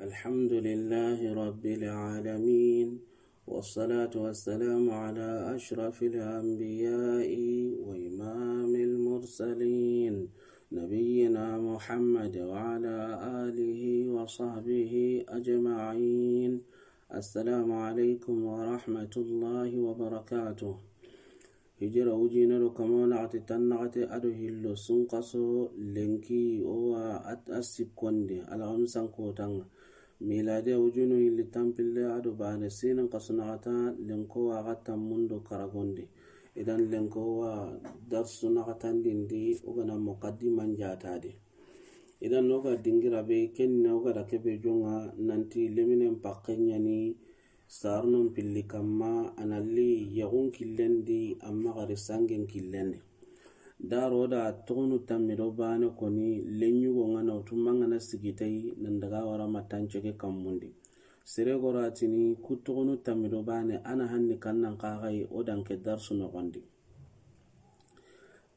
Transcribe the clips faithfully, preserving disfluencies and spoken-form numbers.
الحمد لله رب العالمين، والصلاة والسلام على أشرف الأنبياء وإمام المرسلين، نبينا محمد وعلى آله وصحبه أجمعين. السلام عليكم ورحمة الله وبركاته. Hijira wujine do kamo naxati tannaxate ado hillo sunkaso lenki owa a sikkondi alxamisan kotanga. Miladiya wujunu hilli tanpille ado bane sinin kasu naxata lenko wa xa tammundo karagondi. Idan lenko wa darsu naxatandindi ogana muqaddiman jatadi. Idan noga dingira be kenna ogada kebe jonga nanti leminen pakke ɲani Sarnon pilli kamma analli yaxun killendi amma xari sangen killendi. Daro da toxonu tammi do bane koni lenyugo nga na wutu mangana sigitay nan daga wara mattancege kammundi. Sere goratini ku toxonu tammi do bane ana hanni kannan kaxay o danke darsu noxondi.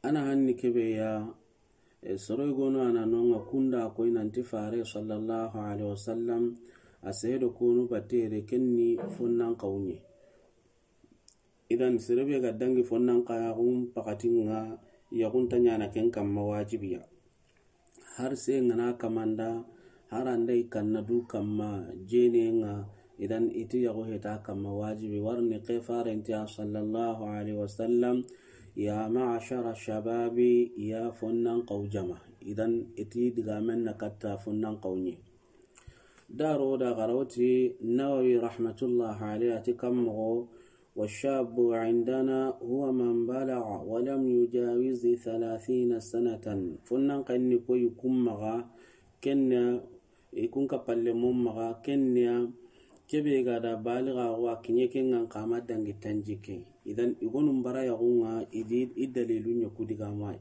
Ana hanni kebe ya E, soroy gono ana nonga kunda koy nanti fare sallallahu alaihi wasallam a seedo konu batere kenni fonnan kawunye. Idan serebe ga dangi fonnan kayaxun pakatinga yaxun ta ɲana ken kamma wajibiya. Har se ngana kamanda har andai kanna du kamma jene nga. Idan iti yaxo heta kamma wajibi warni ke farentiya sallallahu alaihi wasallam. Ya ma'ashara shababi, ya fonnan kaw jama. Idan iti digamen na katta fonnan kaw ɲi. Daro da garawti Nawawi rahmatullah alaihi ati kammoxo. والشاب عندنا هو من بلغ ولم يجاوز ثلاثين سنة. Fonnan kanni koy kummaga kenna ikun ka palle mum maga kenniya kebe ga da baliga wa kinye kengan kama dangi tanjike. Idan igonun bara yaxunga idi i dalilu ɲa kudigamai.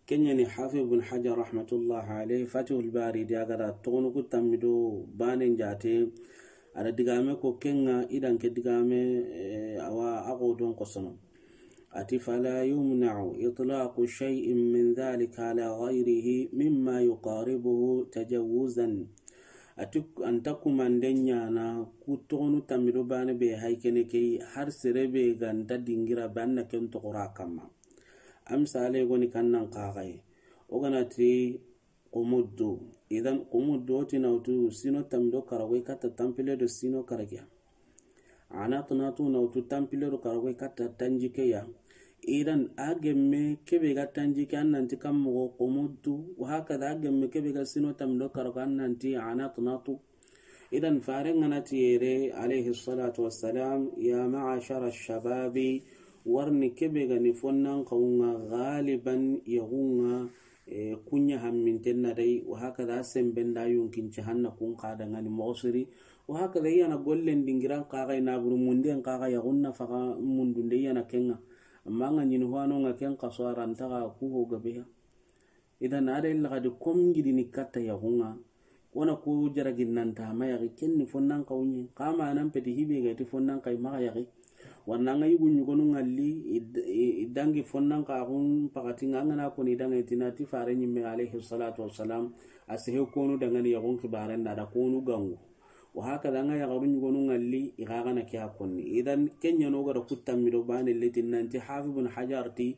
Kenyani Hafiz bin Hajar rahmatullah alayhi Fatihul Bari di agada togonu ku tammido banen jate. Ada digame ko kenga idan ke digame eh, awa ago don kosono. Ati فلا يمنع إطلاق شيء من ذلك على غيره مما يقاربه تجوزا. Ati anta kumanden ɲana ku togonu tammido bane be haykene key har serebe ganta dingira banna ken togora kamma. Amsale goni kannan kaxay. Oganati qumuddu. Idan qumuddu oti nawtu sino tammido karagoy katta tampile do sino karagiya. Anatnatu nawtu tampilero karagoy katta tanjikeya. Idan a gemme kebe ga tanjike an nanti kammogo qumuddu. Wa hakada a gemme kebe ga sino tammido karago an nanti anatnatu. Idan faren ganati yere alayhi salatu wassalam ya ma'ashara shababi. Warni kebe ga ni fonnan kawunga galiban yagunga. E, kunya hamminten na dai wa hakada semben da yonkin ci hanna kun kada ngani mosiri. Wa hakada yana gollen dingiran kaga ina buru munden kaga ya gunna faga mundunde yana kenga. Amma nga nyini hwano nga ken kaswara ntaga ku ho gabeya. Idan ada illa gadi kom ngidi ni katta ya gunga. Wona ku jaragin nanta ma yagi kenni fonnan kawunye kama nan peti hibe ga ti fonnan kay ma yagi. Wanna nga yugu nyugonu ngalli i dangi fonnan kaxun pakati nga ngana koni dangi tina ti fare nyimme alayhi salatu wassalam. A sehe konu dangani yagun kibaren da da konu gangu. Wa hakada nga yagaru nyugonu ngalli i gagana ke a konni. Idan kenya no gara kuttammido bane letin nanti Hafiz bin Hajar ti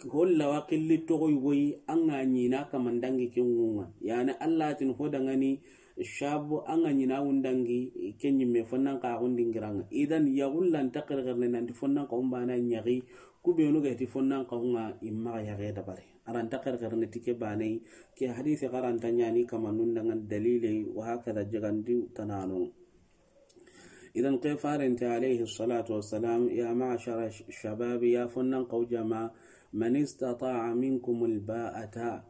holla wa killi togo yugoyi an ga ɲina kaman dangi ke ŋunga. Yani Allah tin ho dangani shabu an ga ɲina wun dangi ke ɲimme fonnan kaxun dingiranga. Idan yagullan ta xerxerne nanti fonnan kaxun bana ɲaxi kubenu ga ti fonnan kaxunga imma yage dabari. Aranta xerxerne tike banai ke hadisi garanta ɲani kamanun dangan dalilai wa hakada jagandi tanano. Idan ke farente alayhi salatu wassalam ya ma'ashara shababi ya fonnan kaw jama man istata'a minkum alba'ata.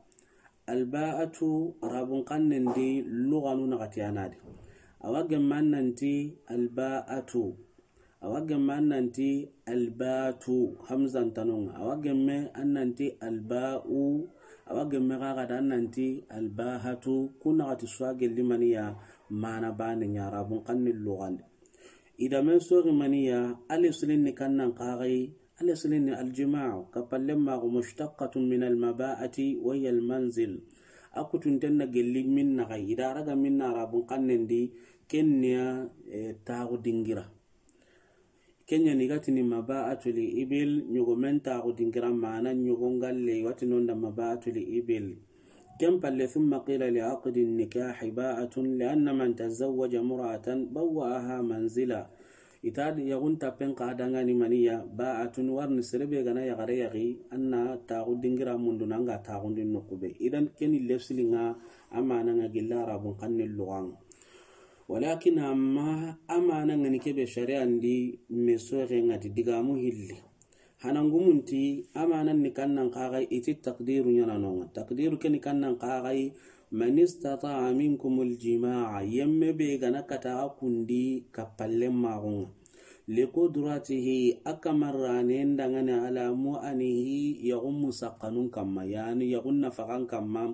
Alba'atu arabun kannen di luganu nagati anadi. Awa gemma nanti alba'atu. Awa gemma nanti albatu hamzan tanonga. Awa gemme an nanti alba'u. Awa gemme kaga da an nanti albahatu. Kunagati suwa gelli maniya mana bane ɲa arabun kanni lugandi. Idame sori maniya alislin ni kannan kagai. Alislin ni aljima'u kapallen mago mushtaqqatun min almaba'ati wa hiya almanzil. A kutunten na gelli min naxa, i da raga min na Arabun xannen di, ken ni ya, eh, taaxu dingira. Ken ɲa ni ga tini maba'atul ibil, ɲogomen taaxu dingira, mana ɲogon galle, i wa ti non da maba'atul ibil. Ken palle, thumma qila li aqdi nikahi ba'atun, li anna man tazawwaja mura'atan bawwa'aha manzila. I ta di yaxun tappen xa dangani mani ya, ba'atun, warni sere be ga na yaxare yaxi, a na taaxu dingira mundu na ŋa taaxundi noqu be. Idan ken ni lefsili ŋa, a mana ŋa gilla Arabun xannen luxan ŋa. Walakin amma a mana ŋa ni ke be shari'an di me soxe ŋa ti digamu hilli. Hanangumunti, a manan ni kannan xaxay, i ti takdiru ɲana no ŋa. Takdiru ke ni kannan xaxay, man istata'a minkumul jima'a, yemme be ga na kata a kundi kappalle maxun ŋa. Likudratihi, a kamarranen dangani ala mu'anihi, yaxun musakkanun kamma, yani yaxun nafaxan kamma.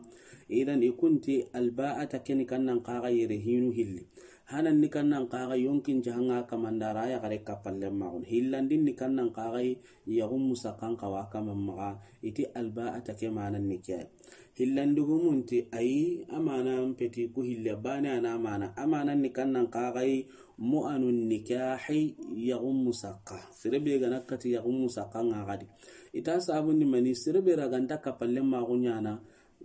Idan i kunti alba'ata ke ni kannan xaxay yere hinu hilli. Hanan ni kannan xaxay yonkin jahanga kamandara yaxare kappalle maxun. Hillandin ni kannan xaxay yaxun musakkan xawa kaman maxa, i ti alba'ata ke manan ni ke. Hillandigumunti ayi, a mana peti ku hille bane a na mana. A manan ni kannan xaxay mu'anun nikahi yaxun musakka. Sere be ga na kati yaxun musakka ŋa xadi. I ta sabun ni mani sere be ra ga nta kappalle maxun ɲana.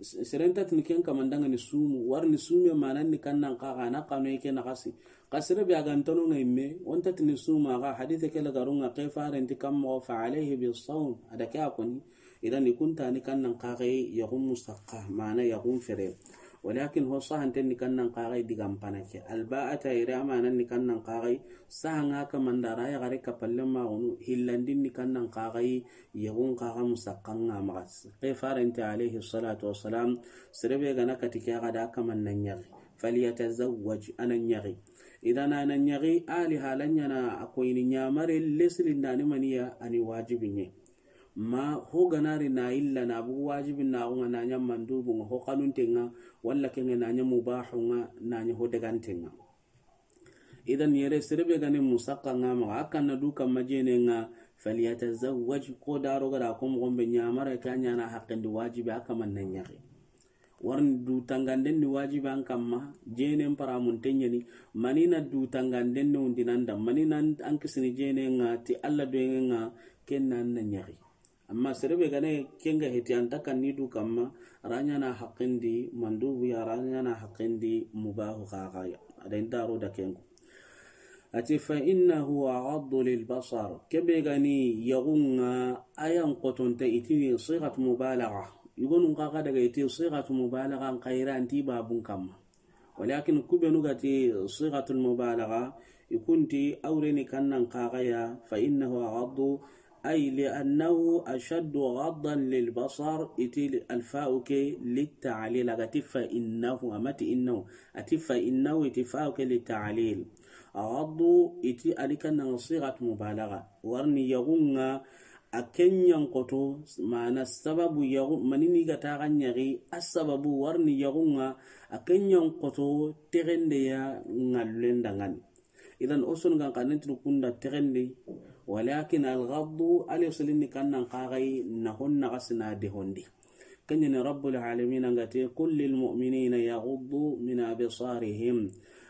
Seren ta tini ken kaman dangani sumu, warni sume manan ni kannan xaxa na kanoy ke naxasi. Xa sere be a ga nta no ŋa yimme, o nta tini sumu, a ga hadise ke lagarun ŋa, ke farenti kamma, fa alayhi bisawm, a da ke a koni. Idan i kunta ni kannan xaxay yaxun musakka, mana yaxun fere. Walakin ho sahanten ni kannan xaxay digan pana ke. Alba'ata yere a manan ni kannan xaxay, sahanga kamandara yaxare kappalle maxunu, hillandin ni kannan xaxay, yaxun xaxa musakkan ŋa maxa. Ke farenti alayhi salatu wassalam, sere be ga na kati ke a ga da kaman na ɲaxi. Falyatazawwaj, a na ɲaxi. Idan a na ɲaxi, ali halan ɲana a koyini ɲamare lesilindani mani ya, a ni wajibi ɲe. Ma ho ga na ri na illa na bugu wajibi naxun ŋa, na ɲa mandubun ŋa, ho xanunten ŋa, walla ken ŋa na ɲa mubahun ŋa, na ɲa ho deganten ŋa. Idan yere sere be ga ni musakka ŋa maxa, a kan na du kamma jene ŋa, falyatazawwaj, ko daro ga da ko moxon be ɲamare ke a ɲana haqqen di wajibi a kaman na ɲaxi. Warni du tanganden ni wajibi an kamma, jenen paramunten ɲani, mani na du tanganden ni undi nan da, mani na an kisini jene ŋa ti Alla doyen ŋa, ken na an na ɲaxi. Amma sere be ga ne ken ga heti an ta kan ni du kamma, ra ɲana haqqen di mandubu ya, ra ɲana haqqen di mubahu xaxa ya. A da in daro da ken ko. A ti, fa innahu aghaddu lil basar. Ke be ga ni yaxun ŋa, a yan xotonte, i ti ni sighatu mubalagha. Yugonun xaxa daga i ti sighatu mubalagha, an xayra anti babun kamma. Walakin ku benu ga ti sighatul mubalagha, i kunti a wure ni kannan xaxa ya, fa innahu aghaddu, ay li annahu ashaddu ghaddan lil basar, i ti al fa'u ke lit ta'lil, a ga ti fa innahu, a ma ti innahu, a ti fa innahu, i ti fa'u ke lit ta'lil. Aghaddu, i ti a ni kannan sighatu mubalagha. Warni yaxun ŋa, a ken yan xoto, mana sababu yaxu, mani ni ga ta ga ɲaxi, a sababu warni yaxun ŋa, a ken yan xoto, texende ya ŋallen dangani. Idan o sonu gan xanen tini kunda texende, walakin al ghaddu, ale silini kannan xaxay, na hon naxasi na de honde. Ken ɲa ni Rabbul Alamin a ga ti, qul lil mu'minina yaghuddu min absarihim.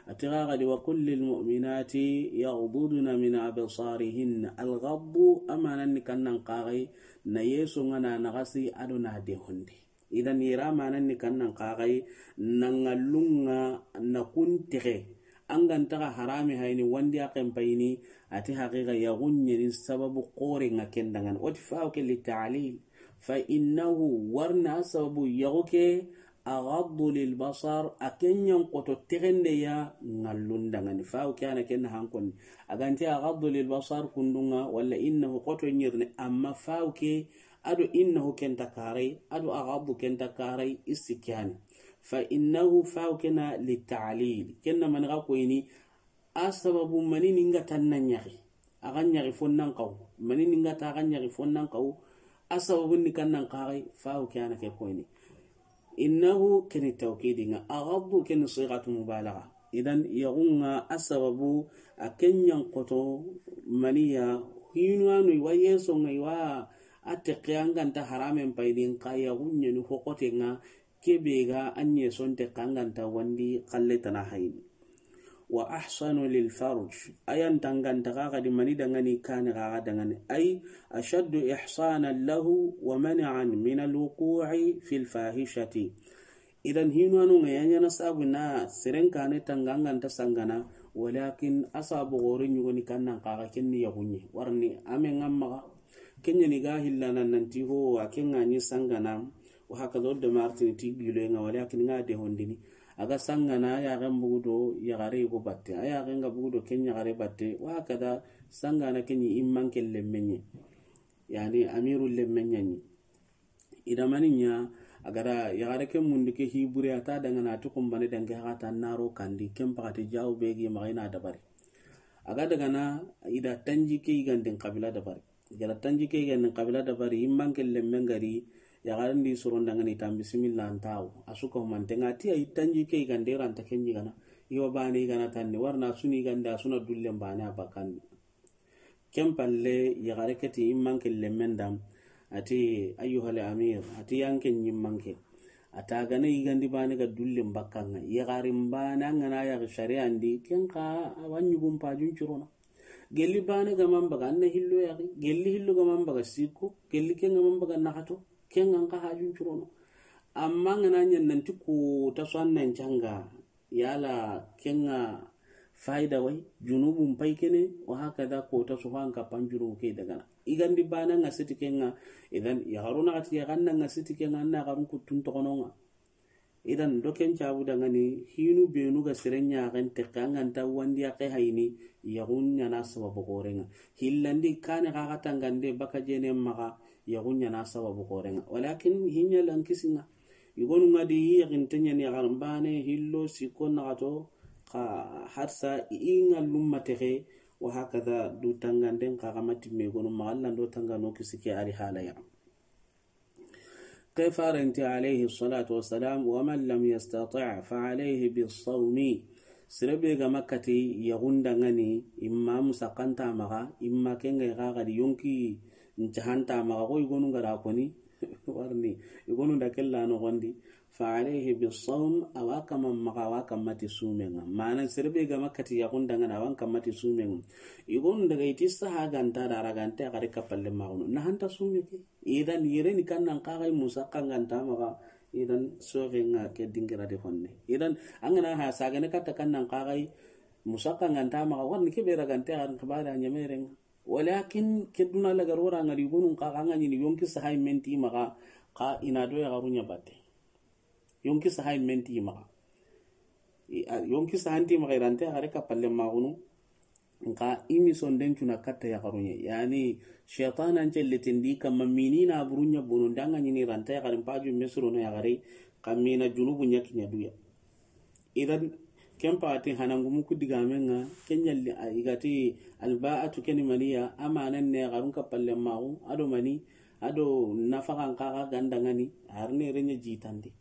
A ti ga ga di, wa qul lil mu'minati yaghdudna min absarihin. Al ghaddu a manan ni kannan xaxay, na yeso ŋa na naxasi a do na de honde. Idan yere a manan ni kannan xaxay, na ŋallun ŋa na kun texe. An ga nta ga harami hayni, wandi a ken payini, a ti haqiqa yaxun ɲa ni sababu xoren ŋa ken dangani. O ti fa'u ke lit ta'lil. Fa innahu, warna sababu yaxu ke, aghaddu lil basar, a ken yan xoto texende ya ŋallun dangani. Fa'u ke a na ken na hankoni. A ga nti aghaddu lil basar kundun ŋa, wala innahu xoto ɲirni, amma fa'u ke, a do innahu ken ta karay, a do aghaddu ken ta karay, i si ke ya ni. Fa innahu, fa'u ke na lit ta'lil. Ken na mani ga koyini, a sababu mani ni ga ta na ɲaxi, a ga ɲaxi fo nan xaw. Mani ni ga ta ga ɲaxi fo nan xaw. A sababu ni kannan xaxay, fa'u ke a na ke koyini. Innahu ken ni tawkidi ŋa, aghaddu ken ni sighatu mubalagha. Idan yaxun ŋa a sababu a ken yan xoto mani ya, hinu a no i wa yeso ŋa i wa a texe an ga nta haramen payini, xa yaxun ɲa ni ho xoten ŋa, Kebe ga anye sonte kanganta wandi kalle tana hayni. Wa ahsanu lil farj, ayan tanganta kaga di mani dangani kani kaga dangani. Ay ashaddu ihsanan lahu wa mani'an min al wuqu'i fil fahishati. Idan hinwanu nga yanyana sabu na seren kane tanganganta sangana, walakin asabu gore nyugoni kannan kaga kenni yagunye. Warni ame ngamma kenya ni ga hillana nanti ho a kenga ni sangana. Wa haka zo de martini ti gilo nga walakin nga de hondini. Aga sangana ya ga mbugudo ya gare go batte. Aya ga nga bugudo kenya gare batte. Wa haka da sangana kenyi imman kelle menye. Yani amirul lemmenye ni. Ida mani ɲa, a ga da yaxare ke mundu ke hibure a ta dangana ti kumbane danke haxa ta naro kandi, ken paxati jawu be gi maxa i na dabari. A ga dagana, ida tanji ke yigandin xabila dabari. I ga da tanji ke yigandin xabila dabari, i manke lemmen gari, yaxaren di soron dangani tan bisimilla an taxu. A su ka humanten ŋa ti a yi tanji ke yigande ranta ken yigana. I wa bane yigana tanni, warna a su ni yigande, a su na dullen bane a bakandi. Ken palle, yaxare ke ti i manke lemmen da, a ti, ayyuhal amir, a ti yanke ɲi manke. A ta gana yigandi bane ga dullen bakkan ŋa. Yaxarin bane an gana yaxi sariyan di, ken xa a wa ɲugun pajun curono. Gelli bane ga man baga, an na hillo yaxi. Gelli hillo ga man baga, sikko. Gelli ken ga man baga, naxato. Ken ŋa an xa hajun curono. Amma an gana ɲa nanti ko ta so an nan canga. Yala ken ŋa fayida way, junubun pay kene, wa haka da ko ta so an ka pan junubu ke dagana. Yigandi bane ŋa siti ken ŋa, idan yaxaru naxati yaxan na ŋa siti ken ŋa, an na yaxarun kuttun toxono ŋa. Idan do ken cabu dangani, hinu benu ga seren ɲaxen texe an ga nta wandi yaxe hayni, yaxun ɲana sababu xoren ŋa. Hillandi kane xaxa tangande baka jene maxa, yaxun ɲana sababu xoren ŋa. Walakin hiɲa lankisi ŋa. Yigonu ŋa di yaxinte ɲani yaxarin bane, hillo, sikko, naxato, xa harsa i ŋa lumma texe, wa haka da du tanganden xa xa mati me gonu maxa lando tangano kisi ke ari halaya. Ke farenti alayhi salatu wassalam, wa man lam yastati' fa alayhi bis sawmi. Sere be ga makati yaxun dangani, imma musakanta maxa, imma kenga xaxa di yonki ncahanta maxa, ko yigonu ngara koni, warni, yigonu da kella no gondi, fa alayhi bis sawm, awa kama maxa, awa kamati sumenga. Mana sere be ga makati yaxun dangani, awan kamati sumenga. Yigonu daga iti saha ganta da ragante a gari kapalle maxunu. Nahanta sumeke. Idan yere ni kannan kaxay musakka nganta maxa. Idan soxe ŋa ke dingira de honne. Idan an gana ha sagane katta kannan kaxay musakka nganta maxa, warni ke be ragante an xibare a ɲamere ŋa. Walakin ke duna lagar wara ŋa di gonun kaxa ŋa ɲini yonki sahay menti maxa, xa ina do yaxaru ɲa batte. Yonki sahay menti maxa. I, a, yonki sahanti maxa irante yaxare kapalle maxunu. Nka imi sonden cuna katta yaxaruɲe. Yani, shaytan an celletindi kamma mini na buruɲa bono ndanga ɲini ranta yaxarin paju mesuro no yaxare, kamina junubu ɲa kiɲa duya. Idan, ken pati hanangumu ku digamenga, ken ɲalli a igati alba'atu keni maniya, amanan ne yaxarun kapalle maxu, ado mani, ado nafaxan kaxa gandangani, arne reɲa jitandi.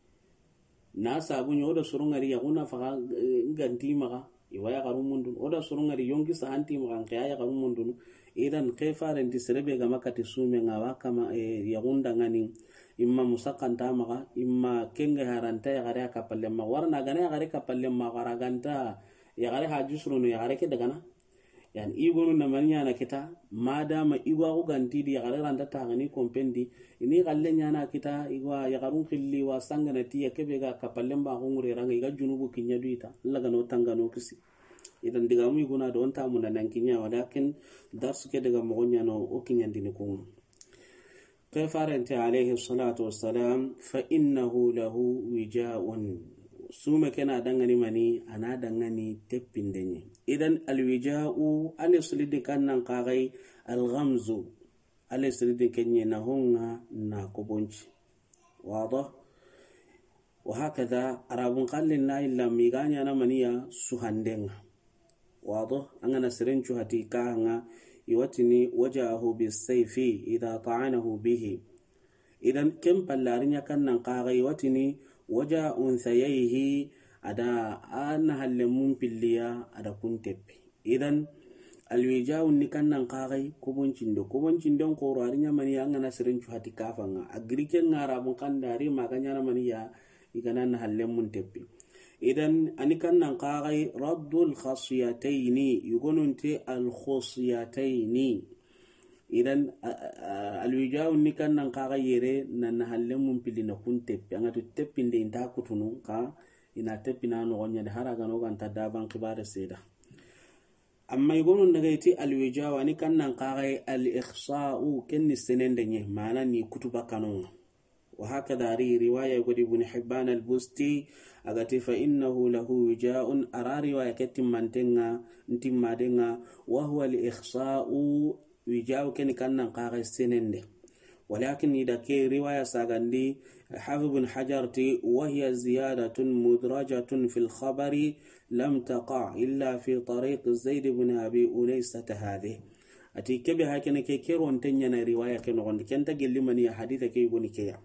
Na sabu ɲa, o da soro ŋari yaxu nafaxa, eh, nganti maxa, i wa yaxaru mundunu. O da soro ŋari yonki sahanti maxa, nke ya yaxaru mundunu. Idan ke farenti sere be ga makati sumenga wa kama, eh, yaxun dangani, imma musakanta maxa, imma kenge haranta yaxare a kapalle maxa. Warna gana yaxare kapalle maxa, ara ganta yaxare haju surono yaxare ke dagana. Yani, igonu na mani ɲana kita, madama igwa ku ganti di yaxare ranta taxani kompendi, ini xalle ɲana kita, igwa yaxarun xilli wa sangana tiya kebe ga kapallen ba xungure ranga, iga junubu kiɲa du ita, Allah gano tangano kisi. Idan digamu iguna do onta muna nan kiɲa, walakin darsu ke daga moxo ɲano o kiɲandini kungu. Ke farenti alayhi salatu wassalam, fa innahu lahu wija'un. Sume kena dangani mani, ana dangani teppindenye. Idan alwija'u, ale sulidi kannan kagai, alghamzu, ale sulidi kenye na honga na kobonci. Wado? Wa hakada, Arabun kallin na illa miganya na maniya suhandenga. Wado, an gana sirencu hati kahanga, iwatini waja'ahu bisayfi idha ta'anahu bihi. Idan ken pallari nya kannan kaga iwatini waja unsayaihi, ada ana halle mun pilliya, ada kun teppi. Idan alwija'un ni kannan kagai koboncindo. Koboncinden koro ari ɲamani an gana sirencu hati kafanga. Agriken Arabun kanda ari maganya na maniya, I ga na nahallenmun teppi. Idan, a ni kannan kaxay raddul khasiyatayni, yugonunte al khasiyatayni. Idan, a, a, a, alwija'u ni kannan kaxay yere na nahallenmun pilli na kun teppi. An ga tu teppinde i nta kutunu xa, i na teppi na noxon ɲa de, hari a ga no ga nta daban xibare seda. Amma yugonun daga i ti alwija'u, a ni kannan kaxay al ikhsa'u, ken ni senende ɲa, mana ni kutuba kanonga. Wa hakada, a ri riwaya godi Ibn Hibban al-Busti, a ga ti, "Fa innahu lahu wija'un," a ra riwaya ke timmantenga, ntimmadenga, "wa huwa al-ikhsa'u," wija'u ken ni kannan kaxay senende. Walakin i da ke riwaya sagandi, Hafiz ibn Hajar ti, "Wa hiya ziyadatun mudrajatun fil khabari lam taqa illa fi tariq Zaid ibn Abi Unaysata hadhihi." A ti kebe hakene ke, ke ronte ɲana riwaya ke noxondi, ken ta gelli mani ya haditha ke yugoni ke ya.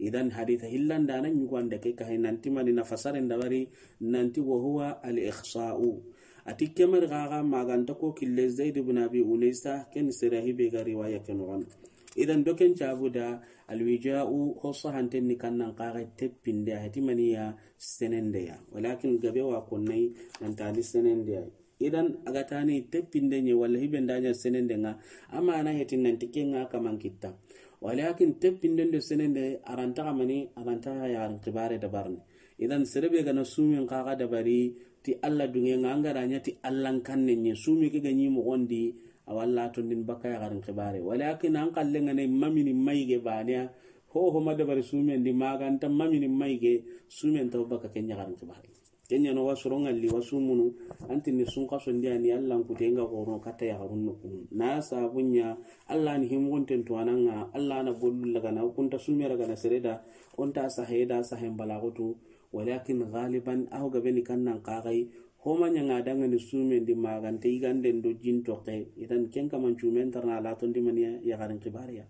Idan haditha hillandana ɲuganda ke kahay nanti mani na fasaren dabari nanti wa huwa al ikhsa'u. A ti kemari xaxa maganta ko kille Zaid ibn Abi Unaysa, ken sere hibe ga riwaya ke noxondi. Idan doken cabu da alwija'u ho sahanten ni kannan kaxay teppinde, a heti mani ya senende ya. Walakin gabe wa konnay nanta ni senende ya. Idan a ga tani teppinde ɲe walla hibe nda ɲa senende nga, amma a na heti nanti ke nga kaman kitta. Walakin teppinden do senende a ra nta xa mani, a ra nta xa yaxarin xibare dabarni. Idan sere be ga na sumen kaxa dabari ti Alla dunge nga, an ga da ɲa ti Allan kanne ɲe, sume ke ga ɲi moxondi, a walla tondin baka yaxarin xibare. Walakin an xalle nga ne mamini mayige baneya, ho ho ma dabari sumen di maganta mamini mayige, sumen taw baka ken yaxarin xibare. Kenya no wa soron ŋalli wa sumunu, anti ni sun kaso ndi ani Alla n kute nga goro kata yaxarun no kun. Na sabunya Alla ni himonten to ananga, Alla na gollu lagana kunta sumera gana sereda, onta saheda sahen balagutu. Walakin galiban aho gabe ni kannan kaxay, homa ɲanga danga ni sumen di magante iganden do jin toxe, idan ken kaman cumen tarna la tondi maniya yaxarin xibariya.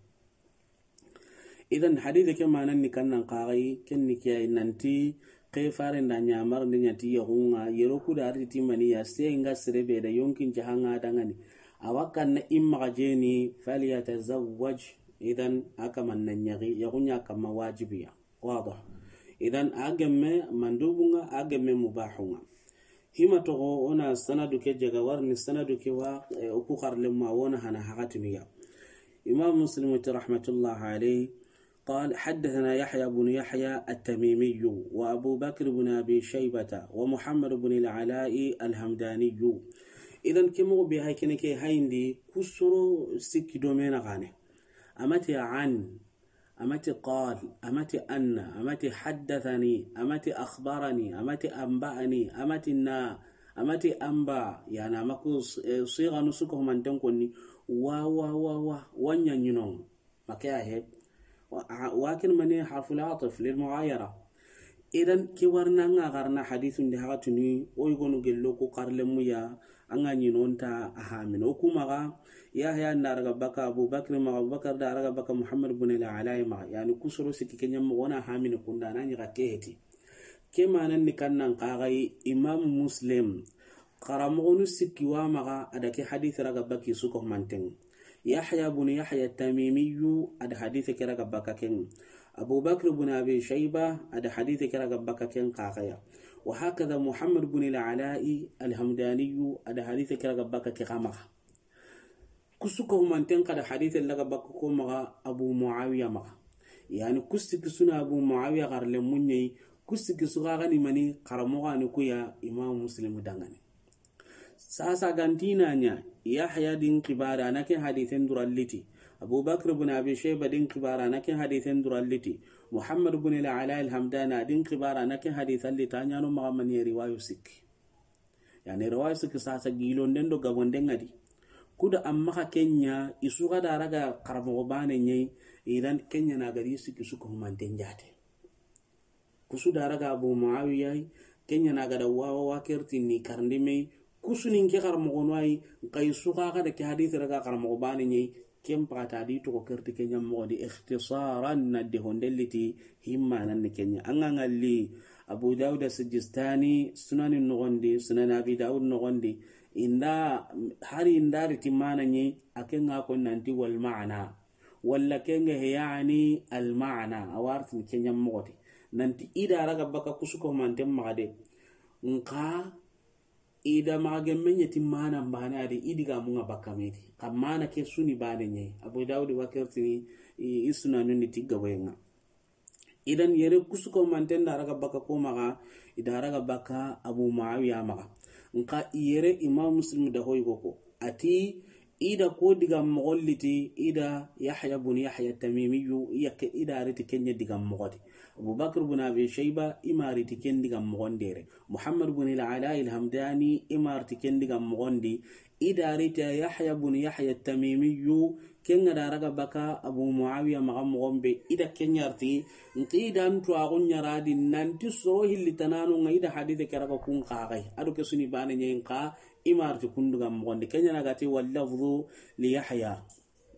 Idan hadithe ke manan ni kannan kaxay, ken ni ke ay nanti, ke faren da ɲamar ni ɲati yaxunga, yero ku da arti timani ya, se nga sere be da yonkin jahanga dangani. Awa kanna imma jeni, "Falyatazawwaj." Idan a kaman na ɲaxi, yaxunya kama wajibiya. Wadah. Idan a gemme mandubunga, a gemme mubahunga. Hima toxo, o na sanadu ke jaga warni sanadu ke wa, eh, o ku xarlemu a wona hana haxatiniya. Imam Muslim ti rahmatullah alayh, قال: حدثنا يحيى بن يحيى التميمي وأبو بكر بن أبي شيبة ومحمد بن العلاء الهمداني. Idan ke moxo be hay kene ke hayindi kusoro sikki do mena gane. Amati an, amati qal, amati anna, amati haddathani, amati akhbarani, amati anba'ani, amati na, amati anba, yani amaku, eh, siga nu suko manten konni, wa, wa, wa, wa, wanya nyino. Make a he. Wa, a, wa kin mani harful ataf lil mughayara. Idan ke warna nga garna hadithun di haxatuni, o yigonu gello ku xarlemu ya, anga ɲinonta a hamino. O ku maxa, Yahya nda raga baka Abu Bakr maxa, Abu Bakr da raga baka Muhammad bin al-Ala maxa. Yani kusoro sikki ke ɲamma wona hamini kunda na ɲiga ke heti. Ke manan ni kannan kaxay Imam Muslim. Xaramoxonu sikki wa maxa a da ke hadith raga baki suko manten. Yahya bin Yahya Tamimiyu a da hadith ke raga baka ken. Abu Bakr bin Abi Shayba a da hadith ke raga baka ken kaxaya. Wa hakada Muhammad bin al-Ala'i al-Hamdaniyu a da hadith ke raga baka ke xa maxa. Kusu ko manten kada hadith laga baka ko maxa Abu Muawiya maxa. Yani kusi kisuna Abu Muawiya garle munyai, kusi kisu ga ni mani, xaramoxo ni kuya Imam Muslim dangane. Sasa gantina ɲa, Yahya din xibare a na ke hadithen duralliti. Abu Bakr bin Abi Shayba din xibare a na ke hadithen duralliti. Muhammad bin al-Ala al-Hamdani din xibare a na ke hadithan lita ɲano maxa mani riwayu sikki. Yani riwayu sikki sasa gilonden do gabonden ŋa di. Kuda amma xa kenya, isu ga da raga xaramoxo bane ɲai, idan kenya na gari sikki su ko humanten jate. Kusu da raga Abu Muawiya, kenya na gada wawa wa kerti ni karndi me, kusu nin ke xaramoxo no ay, nka isu ga da ke hadith raga xaramoxo bane ɲai, ken paxata di toxo kerti ke ɲammoxo di ikhtisaran na de hondelliti himmanan ni kenya. An ga ŋalli Abu Dawud Sijistani, Sunani noxondi, Sunan Abi Dawud noxondi, inda, hari inda riti mana ɲi, a ke ŋa ko nanti wal ma'na. Walla ke ŋa he yani al ma'na, a wartin ke ɲammoxo di. Nanti i da raga baka kusuko manten maxa de. Nka i da maxa gemme ɲeti mana mbane a di, i digamun ŋa baka me di. Xa mana ke su ni bane ɲa yi. Abu Dawud wa ke ritini i, i sunanun ni ti gaboyen ŋa. Idan yere kusuko manten da raga baka ko maxa, i da raga baka Abu Muawiya maxa. Nka yere Imam Muslim da hoy go ko. A ti, i da ko digan moxon liti, i da Yahya bun Yahya Tamimiyu, i ya ke, i da riti ken ɲa digan moxo di. Abu Bakr bun Abi Shayba, i ma riti ken digan moxon di yere. Muhammad bun al-Ala al-Hamdani, i ma riti ken digan moxon di. I da riti Yahya bun Yahya Tamimiyu, ken ŋa da raga baka Abu Muawiya maxa moxon be, i da ken ɲa riti, nti i da ntu a gun ɲa ra di, nanti soro hilli tanano ŋa i da hadithe ke raga kun xaxay. A do ke su ni bane ɲa yi nka, i ma riti kun digan moxon di. Ken ɲa na ga ti, wal lafzu li Yahya.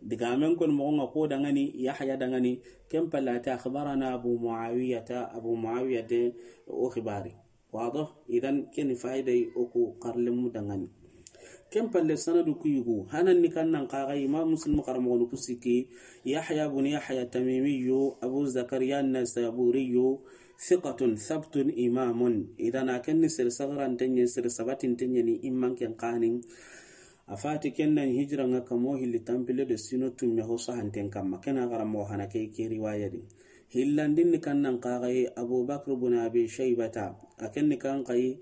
Digamen kon moxon ŋa ko dangani, Yahya dangani, ken palle a ti, akhbarana Abu Muawiyata, Abu Muawiya de o xibari. Wado, idan ken fayda yi o ku xarlemu dangani. Ken palle sanadu ku yugu, hanan ni kan nan xaxa Imam Muslim xaramoxonu ku sikki, Yahya bun Yahya Tamimiyu, Abu Zakariya Nasaburiyu, thiqatun thabtun imamun. Idan a ken ni sere sagaranten ɲa, sere sabatinten ɲa ni imman ken xanin. A fati ken nan hijira ŋa kamo hilli tanpille do sino tumme ho sahanten kamma. Ken a xaramoxo hana ke, ke riwaya di. Hillandin ni kan nan xaxay Abu Bakr bun Abi Shaybata. A ken ni kan xay,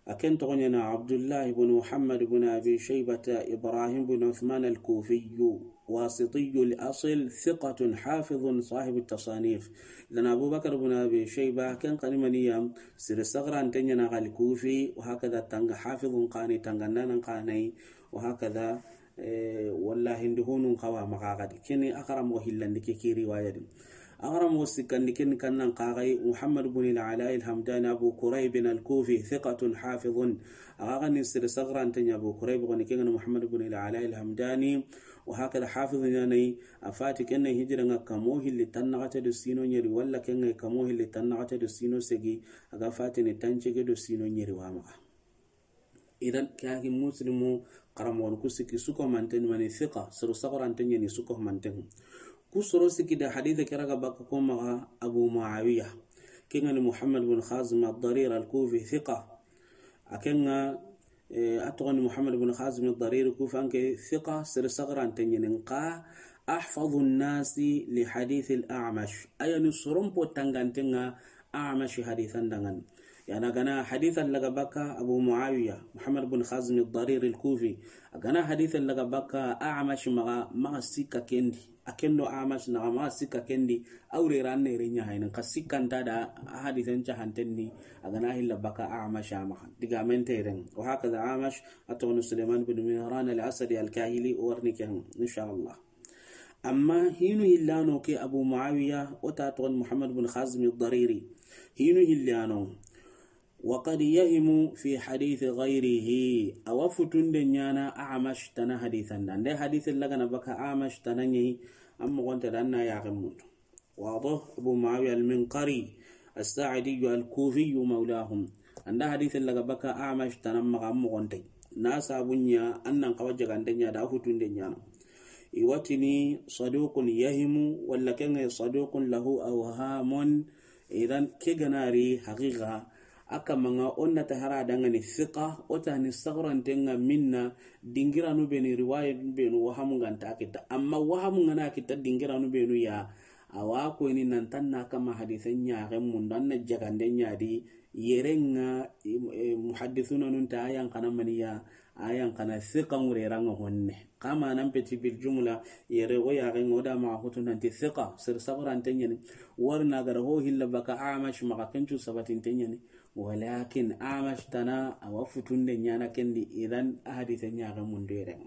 a ken toxo ɲa na Abdullah bun Muhammad bun Abi Shaybata, Ibrahim bun Uthman al-Kufiyu, wasitiyu al-asl, thiqatun hafidhun sahibu tasanif. Lana Abu Bakr bun Abi Shayba, ken xani maniya, sere sagaranten ɲa na al-Kufi, wa hakada tanga hafidhun xani, tangandanan xanay, wa hakada, eh, wallahi ndi honun xawa maxa xadi. Keni a xaramoxo hillandi ke, ke riwaya di. A xaramoxo sikkandi ken kan nan xaxay Muhammad bun al-Ala al-Hamdani Abu Kurayb al-Kufi, thiqatun hafidhun. A xaxani sere sagaranten ɲa Abu Kurayb, xoni ken ŋa ni Muhammad bun al-Ala al-Hamdani, wa hakada hafidhu ɲa na yi, a fati ken na hijira ŋa kamo hilli tannaxate do sino ɲeri, walla ken ŋa kamo hilli tannaxate do sino segi, a ga fatini tancege do sino ɲeri wa maxa. Idan, ke haki Muslimu xaramoxonu ku sikki suko manten mani thiqa, soro sagoranten ɲa ni suko manten. Ku soro sikki da haditha ke raga baka ko maxa Abu Muawiya. Ken ŋa ni Muhammad bun Khazim ad-Darir al-Kufi, thiqa. A ken ŋa, eh, a toxo ni Muhammad bun Khazim ad-Darir Kufi, an ke thiqa, sere sagaranten ɲa ni nka, ahfadhu an-nasi li hadith al-A'mash. A ya ni soron po tanganten ŋa A'mash hadithan dangan. Yana gana hadithan laga baka Abu Muawiya, Muhammad bin Khazim ad-Darir al-Kufi. A gana hadithan laga baka A'mash maxa, maxa sikka kendi. A kendo A'mash naxa maxa sikka kendi. Awre ran ne renya hayna ka sikkanta da hadithan cahantenni. A gana hilla baka A'mash maxa. Digamen teren. Wa hakaza A'mash, a toxo ni Sulaiman bin Mihran al-Asadi al-Kahili, warni ken, insha Allah. Amma hinu hillano ke Abu Muawiya, o ta toxo ni Muhammad bin Khazim ad-Dariri. Hinu hillano. Wa qad yahimu fi hadith ghayrihi. A wa futunde ɲana A'mash tana hadithan da. Nde hadith lagana baka A'mash tana ɲi, amma gonta dan na ya gamutu. Wado, Abu Muawiya al-Minqari, as-Sa'idi al-Kufi mawlahum. Anda hadith laga baka A'mash tana maxa amma gonta. Na sabunya annan kawa jagande ɲa da futunde ɲana. Iwatini saduqun yahimu, walla ken ŋa saduqun lahu awhamun. Idan ke ganari haqiqa, a kamanga onna ta hara dangani thiqa, o ta ni sagoranten ŋa minna, dingiranu benu, riwaya benu, wahamu nganta kita. Amma wahamu ngana kita dingiranu benu ya, a wa ko ni nan tanna kama hadithan ɲa ga mundu, anna jagande ɲa di, yere ŋa, eh, muhaddithuna nun ta ayan kana maniya, ayan kana thiqa ŋure ranga honne. Kama nan peti bil jumla, yere o ya ga ŋo da ma hutu nanti thiqa, sir sagoranten ɲa ni. Warna gara ho hilla baka A'mash maxa kencu sabatinten ɲa ni. Walakin A'mash tana a wa futunde ɲana kendi, idan a hadithan ɲa ga mundu yere.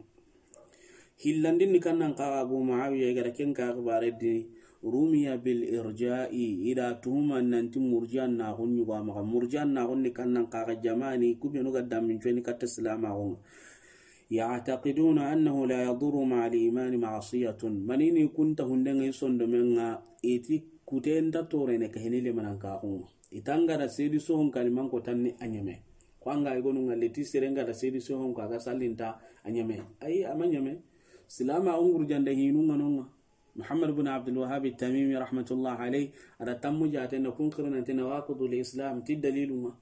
Hillandin ni kannan kaga Abu Muawiya i gara ken ka akhbare di, rumiya bil irja'i, i da tuhuma nanti murji'an na gunni go maxa. Murji'an na gunni kannan kaga jamani, ku benu ga dammin coni katta silama gon. Ya'taqiduna annahu la yadurru ma'al imani ma'siyatun. Manini kunta hundenga i sondomenga, iti kutenta torene kahini le manan kaxunga. Itanga da sedi sohon kaliman ko tanni a ɲeme. Ko anga i gonu ngalle ti serenga da sedi sohon ko aga sallinta a ɲeme. Ayi, ama ɲeme. Silama o ngurjande hinu nganonga. Muhammad bin Abdul Wahhab Tamimi rahmatullah alayhi, a da tammu jaten da kun xiri nanti nawaqidul Islam ti dalilun ŋa.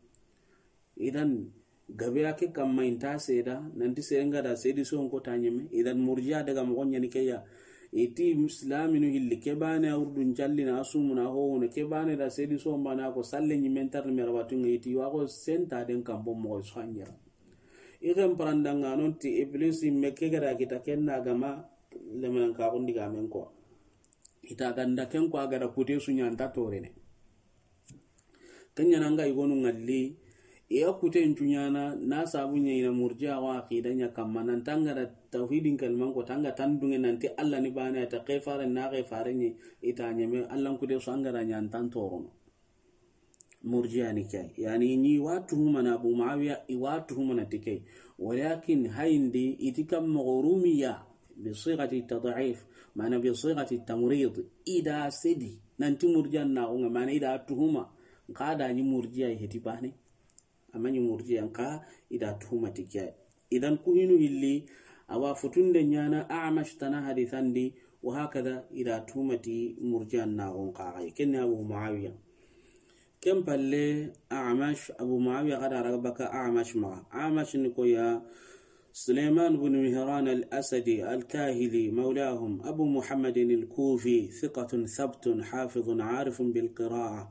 Idan, gabe ya ke kamma i nta seeda nanti sere nga da seedi so n ko ta ɲeme. Idan, murjiya daga moxo ɲani ke ya. I ti Islaminu hilli ke baane a wurdun calli na a sumu na a hohuna ke baane da seedi so n baane a ko salle ɲimen tarni mera batun ŋa i ti wa ko senta den kambo moxo so a ɲera. I ken parandanga non ti Iblis me ke ga da kita ken na gama lemanan ka gundi ga men ko. Ita ganda ken ko a ga da kute su ɲa nta torene. Ken ɲa na nga i gonu ŋalli, i ya kute n cu ɲana, na sabu ɲa i na murjiya wa aqida ɲa kamma, nan tanga da tawhidin kalman ko, tanga tan dunge nanti Allah ni baane, ta ke fare na ke fare ɲi, ita ɲeme, Allah n kute su an ga da ɲa ntan torono. Murjiya ni ke. Yani, ni wa tuhuma na Abu Muawiya, i wa tuhuma na ti ke. Walakin hayindi, i ti kam moxo rumiya, bi sighati tad'if, mana bi sighati tamrid, i da sedi, nanti murjiya na ko nga, mana i da tuhuma, nka da ni murjiya heti baane. Amma ni murjiya nka i da tuhuma ti ke. Idan ku hinu hilli, a wa futunde ɲana A'mash tana hadisandi, wa hakada i da tuhuma ti murjiya na ko nka ga. Ken ni Abu Muawiya. Ken palle A'mash, Abu Muawiya ga da raga baka A'mash maxa. A'mash ni ko ya Sulaiman bin Mihran al-Asadi al-Kahili, mawlahum, Abu Muhammadin al-Kufi, thiqatun thabtun, hafidhun, arifun bil qira'a.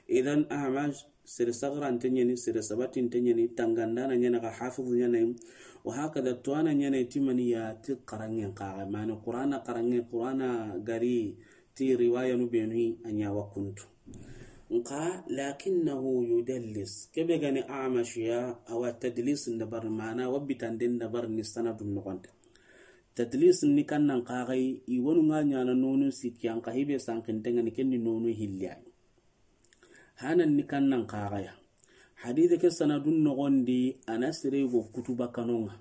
Idan A'mash, sere sagrante ɲani, sere sabati nte ɲani, tangandana ɲana ga hafizu ɲana yi. Wa hakada tuwana ɲana yi ti mani ya ti xaranŋen kaga. Mana Qur'ana xaranŋe, Qur'ana gari ti riwaya nu benu a ɲa wa kuntu. Nka, lakinnahu yudallis. Kebe gani A'mash ya, a wa tadlis ndabar, mana wa bitanden ndabar ni sanadun noxonte. Tadlis ni kannan kagai, i wonu nga ɲana nonu sikki an ka hibe sankinten ŋa ni ken ni nonu hilli ya. Hanan ni kannan kagaya. Hadise ke sanadun noxondi, a na sere go kutu bakano ŋa.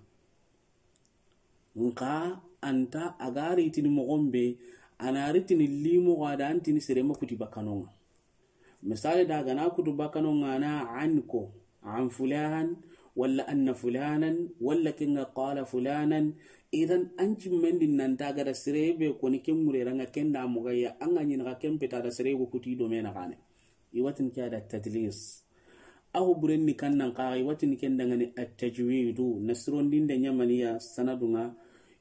Nka anta a ga ritini moxon be, a na ritini limo ga da antini sere ma kuti bakano ŋa. Misali da ga na kutu bakano ŋa na an ko, an fulan, walla anna fulanan, walla ke nga qala fulanan. Idan an cimmendi nanta ga da sere be koni ke ŋurera ŋa ken da moxo ya, an ga ɲini xa ken peta da sere go kuti do mena xane. I wa tini ke a da tadlis. Aho buren ni kannan kaga, i wa tini ken dangani at-tajwidu, na sirondinde ɲa mani ya sanadun ŋa.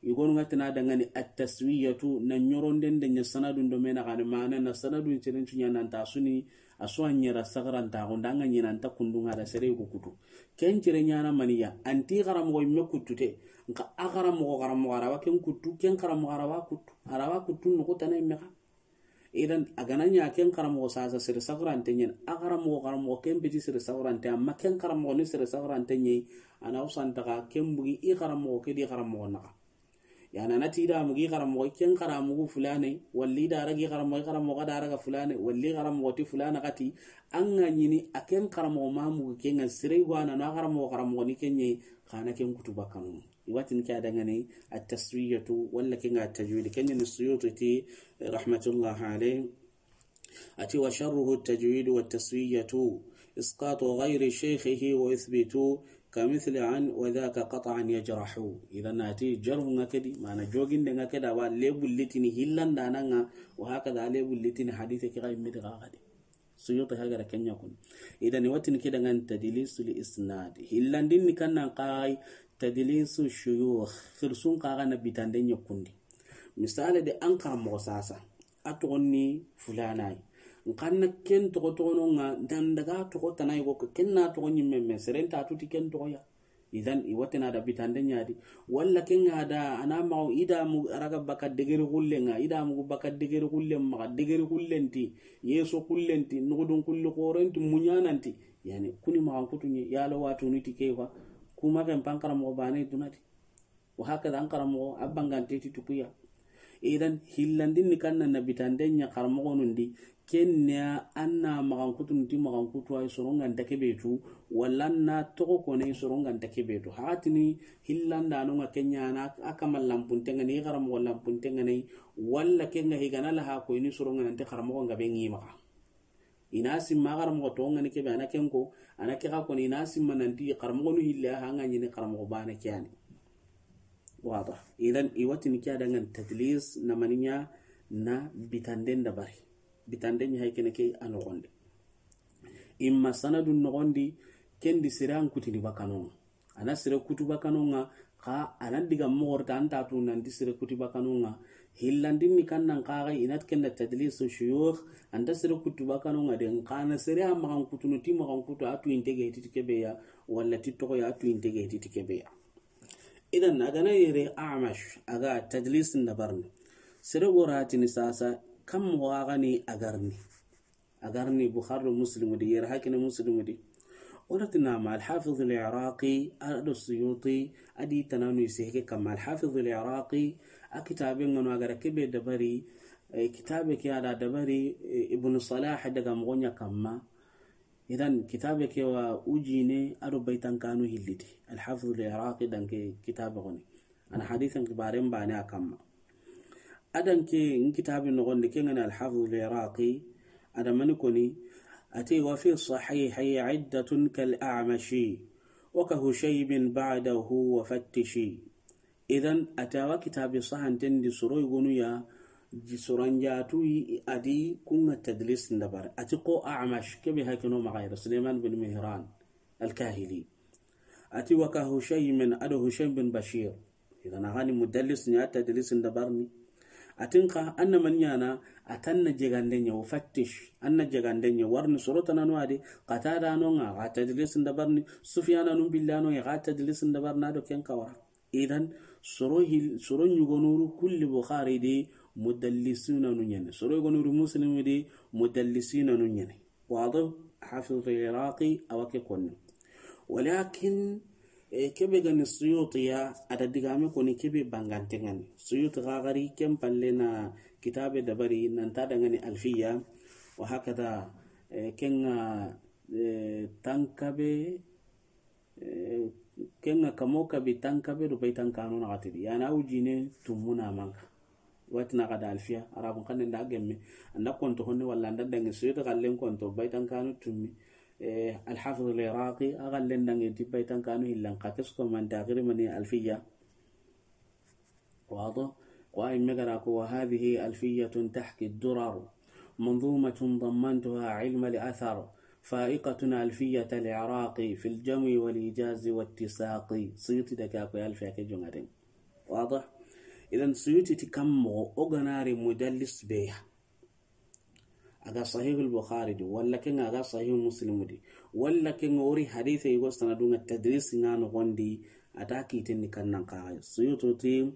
I gonu nga tana dangani at-taswiyatu, na ɲorondinde ɲa sanadun do mena xane, mana na sanadun cirincu ɲa nanta suni, a su a ɲera sagaranta xo nda nga ɲi nanta kundun ŋa da sere go kutu. Ken cire ɲana mani ya, anti xaramoxo imme kuttute, nka a xaramoxo, xaramoxo a ra wa ken kuttu, ken xaramoxo a ra wa kuttu, a ra wa kuttu noxu tana imme xa. Idan a ga na ɲa ken xaramoxo sasa sere sagarante ɲen, a xaramoxo, xaramoxo ken peti sere sagarante, amma ken xaramoxo ni sere sagarante ɲi, a na usanta xa ken bugi i xaramoxo ke di xaramoxo naxa. Yani a na ti i da mugi xaramoxo, ken xaramoxo fulane, walla i da ragi xaramoxo, i xaramoxo da raga fulane, walla i xaramoxo ti fulane xati, an ga ɲini a ken xaramoxo ma mugi ken ŋa sere go a na no a xaramoxo, xaramoxo ni ken ɲi, xa na ken kutu bakanu. I wa tini ke a dangani at-taswiyatu, walla ke nga tajwid. Ken ni Suyuti ti, rahmatullah alayh. Ati, wa sharruhu at-tajwid wa at-taswiyatu, isqatu ghayri shaykhihi wa yuthbitu, ka mithli an wa dhaka qat'an yajrahu. Idan ati, jarhu nga kedi, mana joginde nga keda, wa lebullitini hillandanan ŋa, wa hakada lebullitini hadise ke ga imme di ga kadi. Suyuti hagara ken ɲa kun. Idan i wa tini ke dangani tadlisul isnad. Hillandin ni kannan kagai tadlisu shuyukh. Xirsun kaga na bitande ɲa kundi. Misali de an xaramoxo sasa, a toxon ni fulanayi. Nkanna ken toxo toxono ŋa, dan daga toxo tanayi go, ken na toxo ɲimme me, seren ta tuti ken toxo ya. Idan i wa tini a da bitande ɲa di. Walla ke nga da a na maxa i da mugu a raga baka degeri xulle ŋa, i da mugu baka degeri xulle maxa, degeri xullenti, yeso xullenti, nuxudun xulli xorenti, muɲananti. Yani kuni maxan kutu ɲi, yalo wa tunu ti ke fa. Kuma ken pan xaramoxo bane dunati. Wa hakada an xaramoxo a bangante ti tukuya. Idan hillandin ni kannan na bitande ɲa xaramoxonun di, ken ne ya an na maxan kutunu ti maxan kutu ay soron ga nta ke be tu, walla an na toxo kone soron ga nta ke be tu. Hatini hillandanon ŋa ken ɲa na a kama lampunten ŋa ni, xaramoxo lampunten ŋa ni, walla ke nga higana la ha ko i ni soron ga nanti xaramoxo nga be ŋi maxa. I na simma xaramoxo toxo ŋa ni ke be a na ken ko, a na ke xa koni, i na simma nanti xaramoxonu hille a ha nga ɲini xaramoxo bane ke yani. Wada. Idan i wa tini ke a dangani tadlis na mani ɲa, na bitanden dabari. Bitanden ɲi hay kene ke a noxondi. Imma sanadun noxondi, ken di sere an kutini bakanoŋa. A na sere kutu bakanoŋa, xa a na diga moxorta an ta tu nanti sere kuti bakanoŋa. Hillandin ni kan nan xaxa i na ti ken da tadlisu shuyukh, an ta sere kutu bakanoŋa de, xa na sere a maxan kutunu ti maxan kutu a tu inte ga ti kebe ya, walla ti toxo ya tu inte ga ti kebe ya. Idan a ga na yere Amash a ga tadlisin dabarni. Sere goratini sasa, kam moxo a ga ni a garni. A garni Bukhari do Muslimu di, yere hakene Muslimu di. O na ti nama Alhafiz al-Iraqi, a do Suyuti, a di tananu isi heke kamma. Alhafiz al-Iraqi, a kitabe ŋa no a ga ra kebe dabari, eh, kitabe ke a da dabari, eh, Ibn Salah daga moxo ɲa kamma. Idan kitabe ke wa ujine a do baytankanu hilliti. Alhafiz al-Iraqi danke kitabe xoni. A na hadisin xibaren bane a kamma. A danke n kitabe noxondi ke ŋa ni Alhafiz al-Iraqi, a da mani koni, a ti, وفي الصحيحين عدة كالأعمش وكهشيم بعده وفتش. Idan a ti a wa kitabe sahanten di soro yogonu ya, ji soranjatu yi a di ku ŋa tadlis ndabari. A ti ko Amash, kebe hakeno maxa yere, Suleiman bin Mihran al-Kahili. A ti وكهشيم a do Hushaym bin Bashir. Idan a ga ni mudallis ni a tadlis ndabarni. A ti n xa an na mani ɲana, a ti an na jegande ɲa, وفتش, an na jegande ɲa, warni soro tananu a di, Qatada no ŋa, a ga tadlis ndabarni, Sufyana nun billano, a ga tadlis ndabarni, a do ken kawara. Idan soro hil-, soro ɲugonuru kulli Bukhari di mudallisina nu ɲene. Soro ɲugonuru Muslim di mudallisina nu ɲene. Wado Hafiz Iraqi a wa ke konni. Walakin, eh, kebe ga ni Suyuti ya, a da digame koni kebe bangante ŋa ni. Suyuti gagari ken palle na kitabe dabari nan ta da ŋa ni Alfiya. Wa hakada, eh, ken ŋa, eh, tankabe, eh, ken ŋa kamo kabi tankabe do baytankanu na xatidi. Ya na ujine tumuna manka. Wati na xa da Alfiya, Arabun xannen da gemme, an da konto honne walla an da dangi Suyuti xallen konto, baytankanu tummi, eh, Alhafiz al-Iraqi, a xallen dangi ti baytankanu hillan, xa kesko man taxiri mani Alfiya. Wado, ko ay megara ko, وهذه ألفية تحكي الدرر، منظومة ضمنتها علم الأثر، فائقة ألفية العراقي في الجمع والإيجاز والتساق. Suyuti da ke a ko Alfiya ke jongaden. Wado? Idan Suyuti ti kam moxo o ga na ri mudallis be ya. A ga Sahih al-Bukhari di, walla ken ŋa a ga Sahih Muslim di, walla ken ŋa o ri hadise yogo sanadu ŋa tadlis ŋa noxondi, a ta kiten ni kan nan xaxa. Suyuti ti,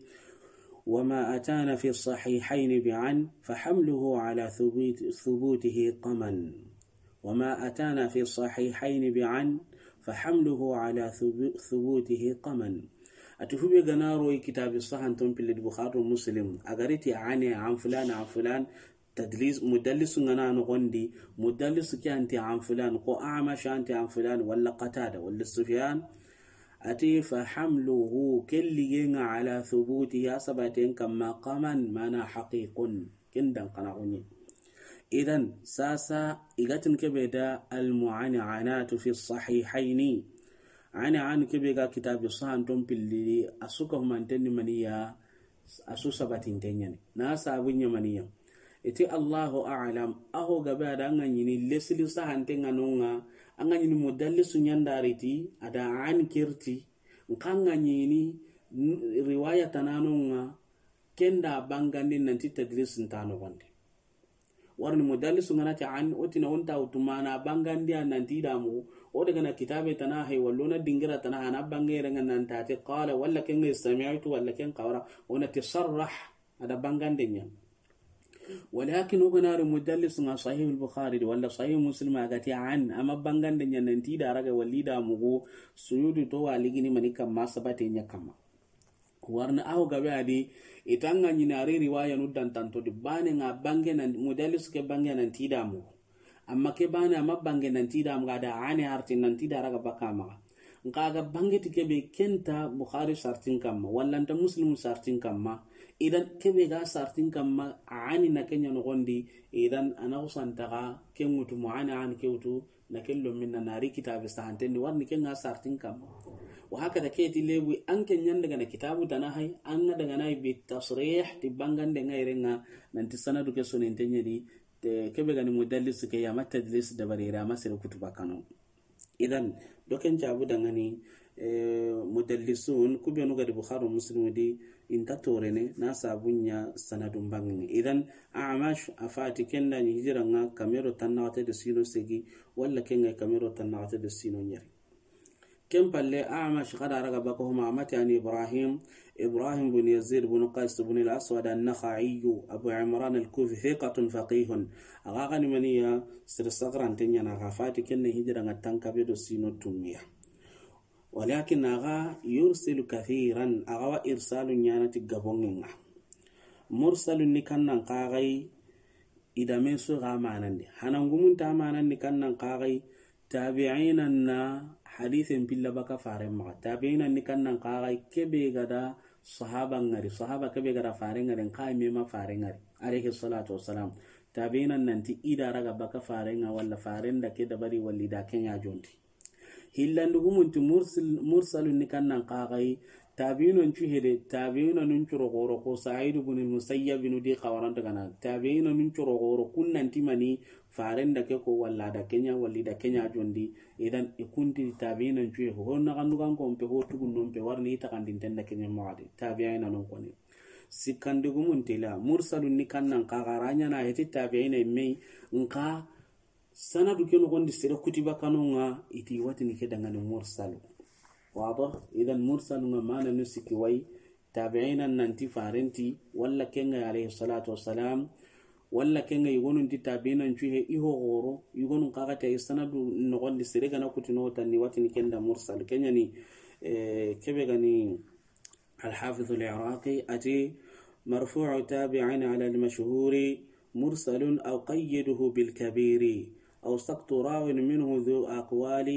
وما أتانا في الصحيحين بعن فحمله على ثبوت-، ثبوته قمن. وما أتانا في الصحيحين بعن فحمله على ثبو-، ثبوته قمن. A ti hube ga na ro i kitabi sahanton pilli di Bukhari Muslim, a ga ri ti ane, an fulan, an fulan, tadlis, mudallis ŋa na noxondi, mudallis ke an ti an fulan, ko Amash an ti an fulan, walla Qatada, walla Sufyan. A ti فحمله, ke lige ŋa على ثبوته, a sabaten kamma, قمن, mana haqiqun. Ken dan kana xoni. Idan sasa i ga tin kebe da المعنعنات في الصحيحين. Ane an kebe ga kitabi sahanton pilli, a su ka humanten ni maniya, a su sabatinten ɲa ni. Na sabu ɲa maniya. I ti Allahu a'lam, a ho gabe a da ŋa ɲini lesili sahanten ŋa no ŋa, a ŋa ɲini mudallisu ɲandariti, a da an kirti, n xa ŋa ɲini n-, riwaya tanano ŋa, ken da bangandi nanti tadlis nta noxondi. Warni mudallisu ŋa na ti an, o ti na o nta wutu mana bangandi a nanti da mugu, o daga na kitabe tana hay, wallo na dingira tana hana bangere ŋa nan ta ti qala, walla ken ŋa سمعت, walla ken xawara, o na ti sarrah, a da bangande ɲa. Walakin o ga na ri mudallis ŋa Sahih al-Bukhari di, walla Sahih Muslim a ga ti an, a ma bangande ɲa nanti da raga walli da mugu, Suyuti to wa ligini mani kamma sabate ɲa kamma. Warna a ho gabe a di, i ta ŋa ɲini a ri riwaya nu dantanto di, bane ŋa bange nan, mudallis ke bange nanti da mugu. Amma ke bane a ma bange nanti da mugu, a da ane arti nanti da raga baka maxa. N xa ga bange ti kebe ken nta Bukhari sartin kamma, walla nta Muslim sartin kamma, Idan kebe ga sartin kamma, ani na kenya nogondi. Idan ana usantaga ke ngutu mo ani an ke wutu na ke lomin na nari kitabe sahanten di warni ke nga sartin kamma. Wa haka da ke ti lebu an ke nyanda gana kitabu tana hay an ga daga nay bi tasrih ti bangande ngairenga nanti sanadu ke sonen tenyedi. Te kebe gani mudallis ke ya ma tadlis dabari ra ma sere kutuba kano. Idan doken jabu dangani, eh, mudallisun kubenu gadi Bukhari Muslim di inta torene na sabunya sanadun bangini. Idan Amash afati kenda ni hijira nga kamero tannagate de sino segi walla kenga kamero tannagate de sino nyeri. Ken palle Amash kada raga bako huma amati ani Ibrahim Ibrahim bin Yazid bin Qais bin al-Aswad an-Nakha'i Abu Imran al-Kufi thiqatun faqihun. Aga gani maniya sir sagran tenya na gafati kenne hijira nga tankabe do sino tumiya. Walakin aga yursilu kathiran, aga wa irsalu nyana ti gabongenga. Mursalun ni kannan kagai idame so ga manandi. Hanangumun ta manandi kannan kagai tabi'ina na hadithin pilla baka faren maga. Tabi'ina ni kannan kagai kebe gada sahaba ngari, sahaba kebe gada faren ngari, nka mema faren ngari. Alayhi salatu wassalam. Tabi'ina nanti ida raga baka faren nga walla faren da ke dabari walli da kenya jonti. Hillandugumunti mursalun ni kannan kagai tabi'ina ncu hede, tabi'ina nun curo goro ko Sa'id ibn Musayyab inu di kawaranta gana. Tabi'ina nun curo goro kunnanti mani faren da ke ko walla da kenya walli da kenya jondi. Idan ikunti tabi'ina ncu ho na gandugan ko mpe ho tugun non pe warni ita kandinten da kenya mawadi. Tabi'ina non koni. Sikandigumunti la mursalun ni kannan kagaranya na heti tabi'ina mei nka sanadu ke nogondi sere kutiba kanonga iti watini ke dangani mursalu. Wado idan mursalu nga mana nu siki wai tabi'ina nanti farenti walla kenga alayhi salatu wassalam walla kenga igonun ti tabi'ina ncu he iho goro igonun kagati ay sanadu nogondi sere gana kutino tanni watini kenda mursal kenyani. Eh, kebe gani Al-Hafiz al-Iraqi ati مرفوع تابع على المشهور مرسل أو قيده بالكبير أو سقط راو منه ذو أقوال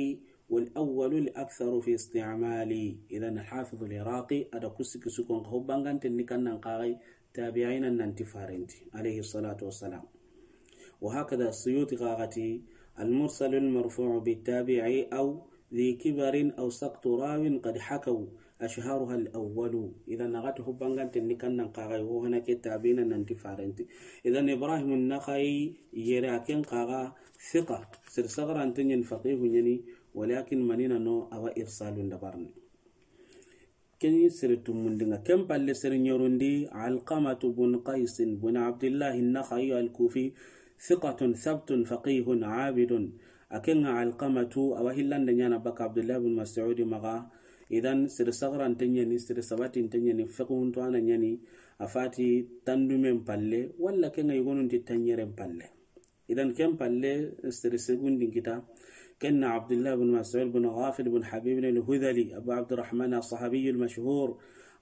والأول الأكثر في استعمال. Idan Al-Hafiz al-Iraqi ada kusi kusi kon ko banganten ni kannan kagai tabi'ina nanti farenti alayhi salatu wassalam. وهكذا السيوطي قاغتي المرسل المرفوع بالتابع أو ذي كبر أو سقط راو قد حكوا أشهرها الأول. Idan nagati ho banganten ni kannan kagai ho hana ke tabi'ina nanti farenti. Idan Ibrahim an-Nakha'i yere aken kaga thiqa sir sagran tenyen faqihu nyani walakin manina no awa irsalun dabarni. Keni sere tumundinga ken palle sere nyorundi Alqamatu bun Qaisin bun Abdillahi Nakha'i al-Kufi thiqatun thabtun faqihun abidun. Akenga Alqamatu awa hillanda nyana baka Abdullah bin Mas'udi maga. Idan sere sagran tenyani sere sabatin tenyani fiqhun to ana nyani afati tandumen palle walla kenga yugonun ti tanyeren palle. Idan ken palle sere segundin kita. Kenna Abdullah bin Mas'ud bin Ghafil bin Habib bin al-Hudhali Abu Abdurrahman as-Sahabi al-mashhur.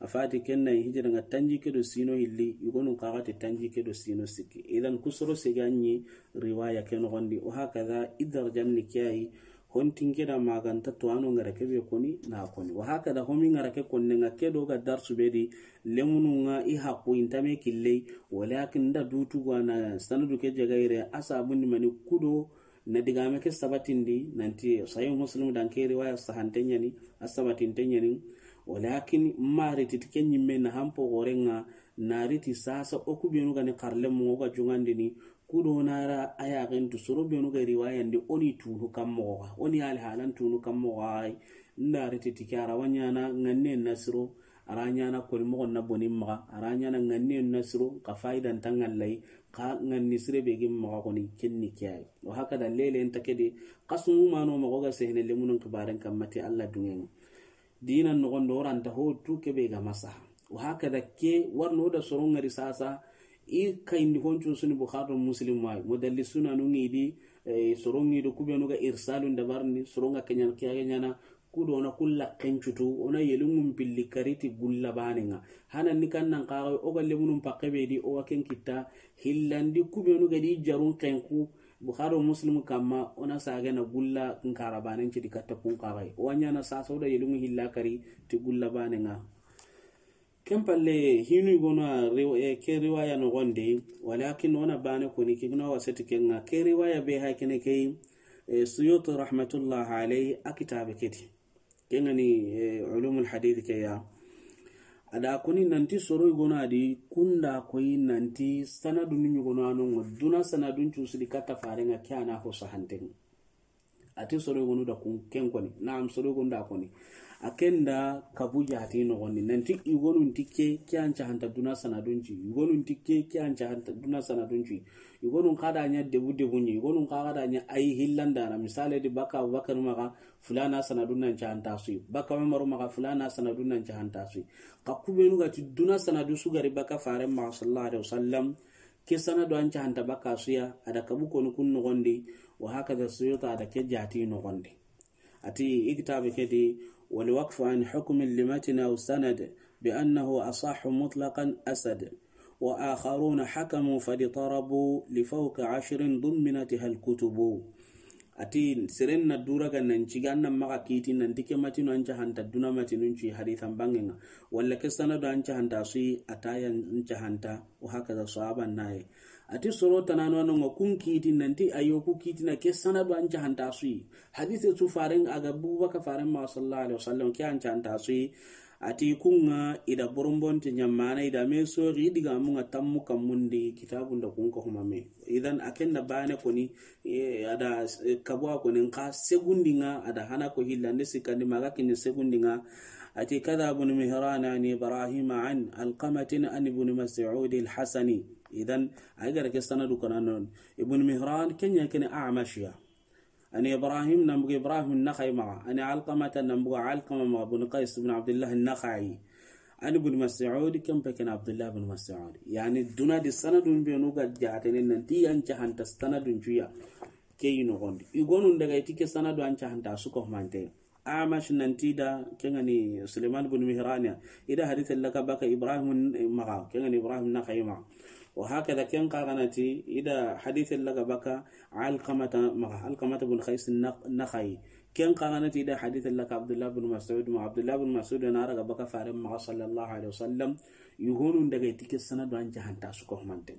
Afati kenna hijira nga tanji kedo sino hilli yugonu kagati tanji kedo sino sikki. Idan kusoro seganyi riwaya ken gondi o hakaza idar janni kiyayi. Hontin keda maganta to ano ngara kebe koni na koni wa hakada homi ngara ke konne nga kedo ga darsu bedi. Lemunu nga i hakku intame killei walakin da dutu gwana sanadu ke jagaire asabundi mani kudo na digame ke sabatindi nanti sahih Muslim dan ke riwaya sahantenyani asabatintenyani. Walakin mari titike nyimme na hampo gorenga nariti sasa okubenu gani karlemu ga jungandini. Kudo nara aya gentu soro benu ga riwaya ndi oni tunu kammo ga oni alhalan tunu kammo ga. Nda rete tike ara wanyana nganne nasiro ara nyana koli mo na boni maga ara nyana nganne nasiro ka faidan tangallai ka nganni sire be gim maga koni kenni kiyai. Wa hakada lele enta kede kasumu mano mago ga sehne lemunun kibaren kammati Allah dungen. Dina nogondo oranta ho tu kebe ga masa. Wa hakada ke warno da soron ngari sasa. I kayndi honcu suni Bukhari Muslim wa mudallisuna nu ngidi. Eh, soron ngido kubenu ga irsalun dabarni soron ga kenyana kiyaga nyana. Kudo na kulla kencutu ona yelungum pilli kariti gulla banenga. Hana ni kannan kaga o ga lemunun pakke be di o wa ken kitta. Hillandi kubenu ga di jarun kenku. Bukhari Muslim kamma ona sage na gulla nkara banen cidi katta kun kagai o wanyana sasa o da yelungu hilla kari ti gulla banenga. Ken palle, hinu i gono a riw-, eh, ke riwaya noxondi, walakin o na bane koni, ke guna wasati kenga, ke riwaya be ha kene ke, eh, Suyuti rahmatullah alayhi a kitabe keti. Kengani, eh, ulumul hadith ke ya. A da koni nanti soro i gono a di, kunda koyi nanti sanadu ni ɲugono a nongo, duna sanadun cusidi katta farenga ke a na ho sahanten. A ti soro i gonu da kun ken koni. Naam, soro i gonu da koni. A ken da kabu jati noxondi. Nanti i gonu nti ke, ke an cahanta duna sanadun ci. I gonu nti ke, ke an cahanta duna sanadun ci. I gonu xa da ɲa debu debu ɲi. I gonu xa da ɲa ayi hillandana. Misale di baka Abubakar maxa fulana sanadun nan cahanta sui. Baka Umaru maxa fulana sanadun nan cahanta sui. Xa kubenu ga ti duna sanadu su gari baka faren maxa sallallahu alaihi wasallam. Ke sanadu an cahanta baka suya, a da kabu koni kun noxondi, wa hakaza Suyuti a da ke jati noxondi. A ti i kitabe ke di, والوقف عن حكم لمتن أو سند بأنه أصح مطلقا أسد، وآخرون حكموا فاضطربوا لفوق عشر ضمنتها الكتب. A ti seren na dura ga nan ciga an nan maxa kiti nanti ke matinu an cahanta duna matinun ci hadisan bangenga. Walla ke sanadu an cahanta sui a ta yan cahanta. Wa hakaza sahaba naye. A ti soro tanano anonga kun kiti nanti ayo ku kiti na ke sanadu an cahanta sui. Hadise su faren a ga buba ka faren maxa sallallahu alaihi wasallam ke an cahanta sui. A ti kunga i da borombonte ɲamana i da me sori diga munga tammu kammundi kitabun da kun ko humame. Idan a ken da bane koni, eh, a da, eh, kabwa koni nka segundinga a da hana ko hillande sikandi maga kini segundinga. A ti كذا ابن مهران عن إبراهيم عن علقمة عن ابن مسعود الحسني. Idan a ga ke sanadu kana non. Ibn Mihran kenya kene A'mashiya. Ani Ibrahim nan buga Ibrahim Nakhai maxa. Ani Alqamata nan buga Alqama maxa bun Qais bin Abdullah Nakhai. Ani bun Mas'ud, ken pe ken Abdullah bin Mas'ud. Yani duna di sanadun be nu ga jatene nanti an cahanta sanadun cuya. Ke yi noxondi. I gonun daga i ti ke sanadu an cahanta su ko mante. Amash nanti da kengani Sulaiman bin Mihraniya. I da hadith laka baka Ibrahim maxa, kengani Ibrahim Nakhai maxa. Wa hakaza ken kaganati i da hadith laka baka Alqamata maxa, Alqamata bin Qais Nakhai. Ken kaganati i da hadith laka Abdullah bin Mas'ud maxa, Abdullah bin Mas'ud na raga baka faren maxa sallallahu alaihi wasallam. I gonun daga i ti ke sanadu an cahanta su ko mante.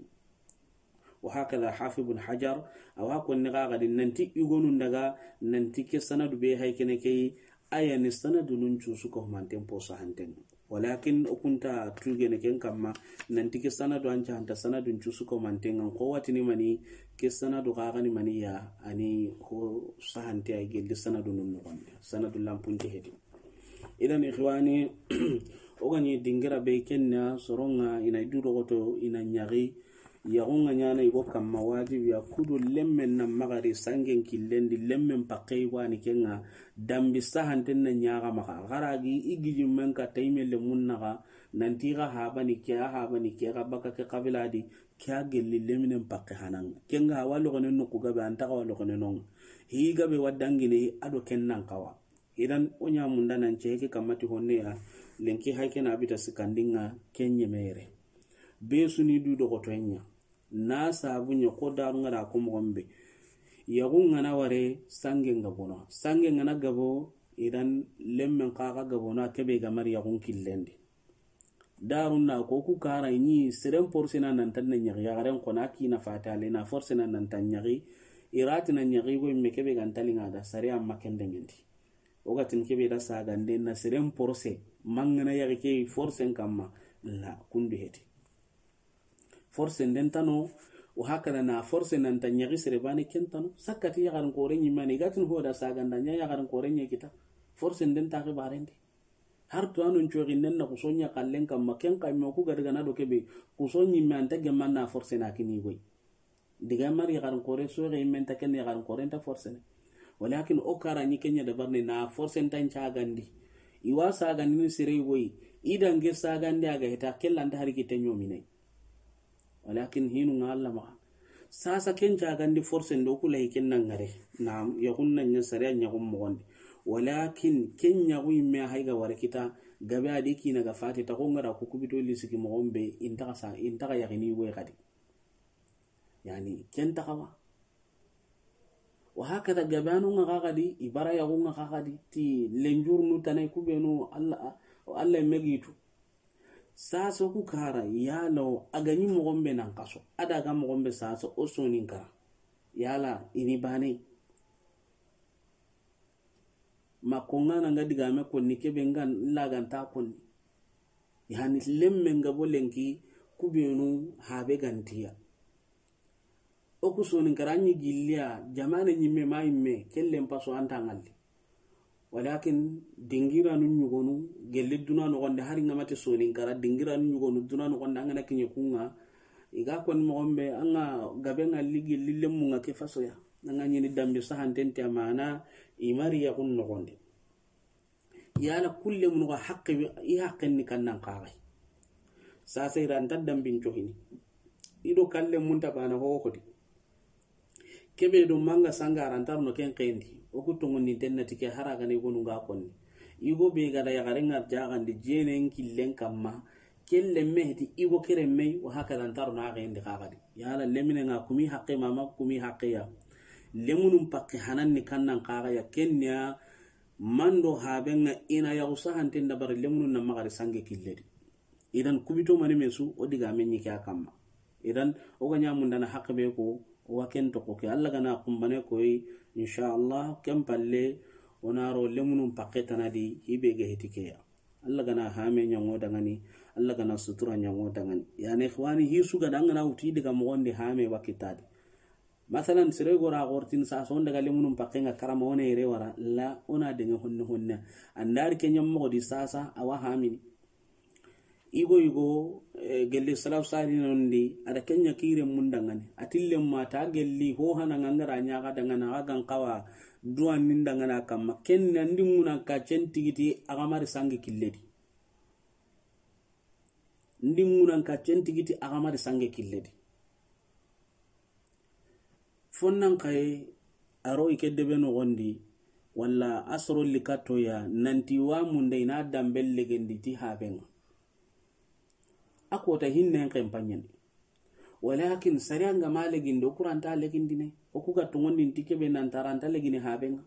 Wa hakaza Hafiz bin Hajar, awa konni ga gadi nanti i gonun daga nanti ke sanadu be hay kene ke aya ni sanadu nun cusu ko manten po sahanten. Walakin o kunta tugene ken kamma nanti ke sanadu an cahanta sanadun cusu ko manten an ko watini mani ke sanadu ga gani mani ya ani ko sahante ay gelli sanadu nun noxondi. Sanadu lampunte hedi. Idan ikhwani, o gani dingira be kenna soronga ina du dogoto ina ɲaxi. Yaxunga ɲana i go kamma wajibi ya kudo lemmen na magari sangen killendi lemmen pakkei wani kenga dambi sahanten na ɲaxa maxa. Xaragi i gijimmen ka tayme lemun naxa nanti xa habani ke a habani ke xa baka ke xabiladi ke a gelli leminen pakke hananga. Kenga hawa loxonen noku gabe antaxa wa loxonen nonga. Hi gabe wa dangine ado ken nan xawa. Idan o ɲa munda nan ceke kamati honne ya lenki hay kena bita sikandinga kenye mere. Be suni du dogoto nya. Na sabu nya ko daru ngara ko mo gombe. Yaxu ngana ware sange nga bono. Sange ngana gabo idan lemmen kaga gabo na kebe gamar yaxun killendi. Darun na ko ku kara ni seren porsena nan tan na ɲaxi yaxaren ko na kina fatale na forsena nan tan ɲaxi. Irati na ɲaxi go me kebe gan talinga da sare amma kendengendi. O ga tin kebe da sagande na seren porse mangana yaxi ke forsen kamma la kundu heti. Forsen den tano o hakana na forse nan tan ɲaxi sere bane ken tano sakkati yaxarin kore ɲimani gatin ho da saganda ɲa yaxarin kore ɲe kita. Forsen den ta xibarendi. Har to anon coxi nen na kuso ɲa kallen kamma ken kayme ku gadi gana do kebe kuso ɲimme anta gemman na forse na kini goy. Diga mari yaxarin kore soxe yimme nta ken yaxarin kore nta forse ne. Walakin o kara ɲi kenya da barne na forse nta ncagandi. Iwa sagandi ni sere goy. Idange sagandi aga heta kella nta hari kite ɲomine. Walakin hinu nga Allah maxa. Sasa ken cagandi forse ndo kula hiken na ngare. Na yaxun na ɲa sariya ɲaxun moxondi. Walakin ken ɲaxu yimme hay ga wara kita gabe adi kina ga fati ta ko ngara ku kubito lisiki moxon be intaxa sa intaxa yaxini we xadi. Yani ken taxawa. Wa hakada gabe anu nga xaxadi ibara yaxu nga xaxadi ti lenjurnu tane kubenu Allah Allah megitu. Sasa ku kara yala o a ga ɲi moxon be nan xaso, a da ga moxon be sasa o Soninkara, yala i ni bane? Ma ko ŋa na ŋa digame konni, kebe ŋa laganta konni. Yani lemme ŋa bo lenki, kubenu habe gantiya. O ku Soninkara ɲi gilliya, jamane ɲimme ma yimme, kellen paso anta ŋalli. Walakin dingiranu ɲugonu, gelli duna noxonde, hari ŋa mate Soninkara, dingiranu ɲugonu duna noxonde, an ga na kiɲe ku ŋa, i ga konni moxon be, an ŋa gabe ŋalli gelli lemmu ŋa ke fasoya. An ga ɲini dambi sahanten ti amana, i mari yaxun noxonde. Yala kulle mun ga haqqe, i haqqen ni kannan xaxay. Sasa i ra nta dambin cohini. I do kalle mun ta bana ho hodi. Kebe do manga sanga ra nta ro no ken xendi. O ku tongondi tenna ti ke hara ga ne gonu ŋa konni. I go be ga da yaxare ŋa jaxandi jenen killen kamma. Kelle mehti i go kere mey, wa haka da nta ro na xendi xaxadi. Yala lemine ŋa kumi haqqe mama kumi haqqe ya. Lemunun pakke hanan ni kannan xaxa ya, kenya mando haben ŋa i na yaxu sahanten dabari lemunun na maxari sange killedi. Idan kubito mani mesu o diga men ɲi ke a kamma. Idan o ga ɲa mundana haqqe be ko, o wa ken toxo ke. Alla ga na kumbane koy, inshallah, ken palle, o na ro lemunun pakke tanadi, hibe ge heti ke ya. Alla ga na hame ɲango dangani, Alla ga na sutura ɲango dangani. Yani, ikhwani, hisu ga dangana uti diga moxondi hame wa kitadi. Masalan, sere gora gortin sa son daga lemunun pakke ŋa karama, o na ire wara, la, o na denge honne honne. Andari kenya moxodi sasa, a wa hamini. Igo igo, eh, gelle salaw sari nondi, ada kenya kire mundangani. Atille ma ta gelli, ho hana ŋa ŋa ra ɲa ga dangana, ga gan kawa, duwa nindangana kamma. Ken na ndi ŋunan ka cen tigiti, a ga mari sange killedi. Ndi ŋunan ka cen tigiti, a ga mari sange killedi. Fonnan kaye, a ro i ke debe noxondi, walla a soro likatoya, nanti wa munde i na dambe legendi ti habe ŋa. A kota hinnen ken paɲani. Walakin sariya ŋa ma legindi, o ku ra nta legindine. O ku ga tongondin ti kebe nan ta ra nta legini habe ŋa.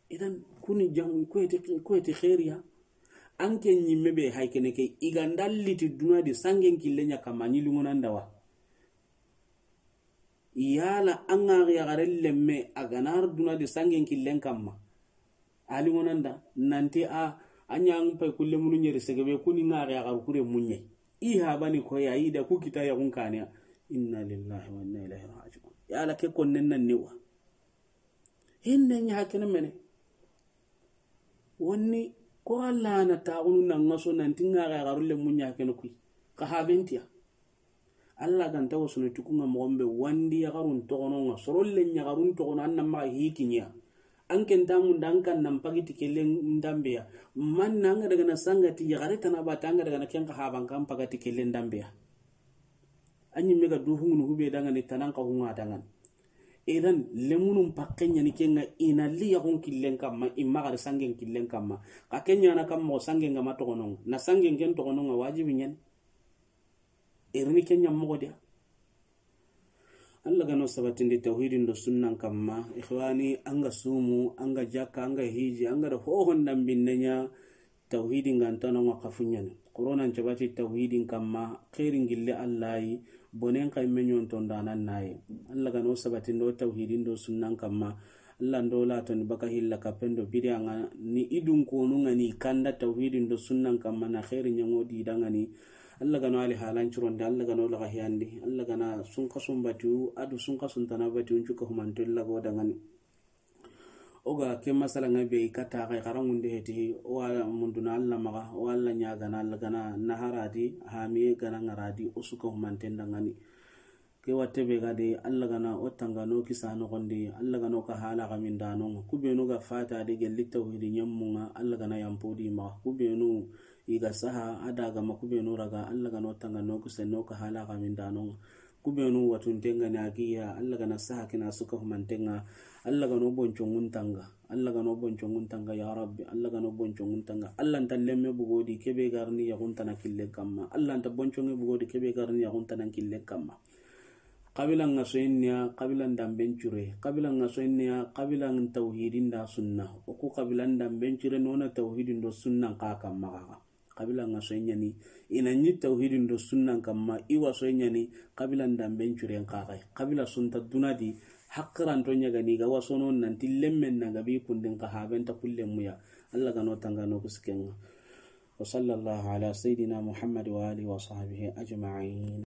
Idan kuni jamu koyete, koyete khairiya. An ke ɲimme be hay kene ke, i ga ndalli ti duna di sangen kille ɲa kamma, ɲi lingonanda wa. Yala an ga yaxare lemme a ga na ro duna di sangen killen kamma. A lingonanda, nanti a, a ɲa an pay kulle munu ɲeri segebe kuni ŋa yaxaru kure muɲe. I habani koya, i da ku kita yaxun kaniya. Inna lillahi wa inna ilaihi raji'un. Yala ke konnen nan ni wa. Hinne ɲa hakene mene. Wonni ko Alla na taxunu na ŋa so nanti ŋa ga yaxaru le muɲa kene kuy. Ka habentiya. Alla ga nta wasunu ti ku ŋa moxon be wandi yaxarun toxono ŋa. Sorolle ɲaxarun toxono an na maxa hikiɲa. An ken ta munda an kan nan pagiti kellen dambeya. Man na an ga daga na sangati yaxare tana ba ta an ga daga na ken ka haban kan pagati kellen dambeya. An ɲimme ga duhungunu hube dangani tanan ka hunga dangani. Idan lemunun pakke ɲani ke ŋa i na li yaxun killen kamma, i ma gari sangen killen kamma. Ka ke ɲana kamma o sangen ga ma toxono ŋa. Na sangen ken toxono ŋa wajibi ɲani. Irini ke ɲa moxo diya. Alla ga no sabatindi tawhidin do sunnan kamma. Ikhwani, an ga sumu, an ga jakka, an ga hiji, an ga da hohon dambinne ɲa. Tawhidin ga nta no ŋa kafuɲani. Qur'anan cabati tawhidin kamma, khairin gille Alla yi, bonen kay me ɲonton danan naye. Alla ga no sabatindo tawhidin do sunnan kamma. Alla ndo la to ni baka hilla kapendo bidiya ŋa ni idun konu ŋa ni kanda tawhidin do sunnan kamma na khairin ɲango di dangani. Alla ga no ali halan curonde, Alla ga no laga hiyandi, Alla ga na sunka sumbatiyu, adu sunka suntana batiyu, ncuka humanto lago dangani. O ga ke masala ŋa be i kata ga i xaranŋunde heti, o wa munduna Alla maxa, o wa Alla ɲagana, Alla ga na naharadi, hamiye ga na ŋaradi, o suka humanten dangani. Ke watte be ga de, Alla ga na o tanga no kisa noxondi, Alla ga no ka hala ga mindano ŋa. Ku benu ga fata de gelli tawhidi ɲemmu ŋa, Alla ga na yampo di maxa. Ku benu i ga saha, a daga ma ku benu raga, Alla ga no tanga no kisa no ka hala ga mindano ŋa. Ku benu watunten ŋa ni a giya, Alla ga na saha kina suka humanten ŋa, Alla ga no boncongun tanga, Alla ga no boncongun tanga, ya Rabbi, Alla ga no boncongun tanga. Alla nta lemme bugodi kebe garni yaxuntana kille kamma, Alla nta bonconge bugodi kebe garni yaxuntana kille kamma. Qabila ŋa soyinniya, qabila ndamben cure, qabila ŋa soyinniya, qabila tawhidin da sunna. O ku qabila ndamben cure nona tawhidin do sunnan ka kamma gaga. Xabila ŋa soyi ɲa ni, i na ɲi tawhidin do sunnan kamma, i wa soyi ɲa ni, xabila n danben curen xaxay. Xabila sunta duna di, haqiranto ɲa ga ni, ga wasono nanti lemmen na gabi kundin xa haben ta kullen muya. Allah ga no tanga no kusiken ŋa. وصلى الله على سيدنا محمد وآله وصحبه أجمعين.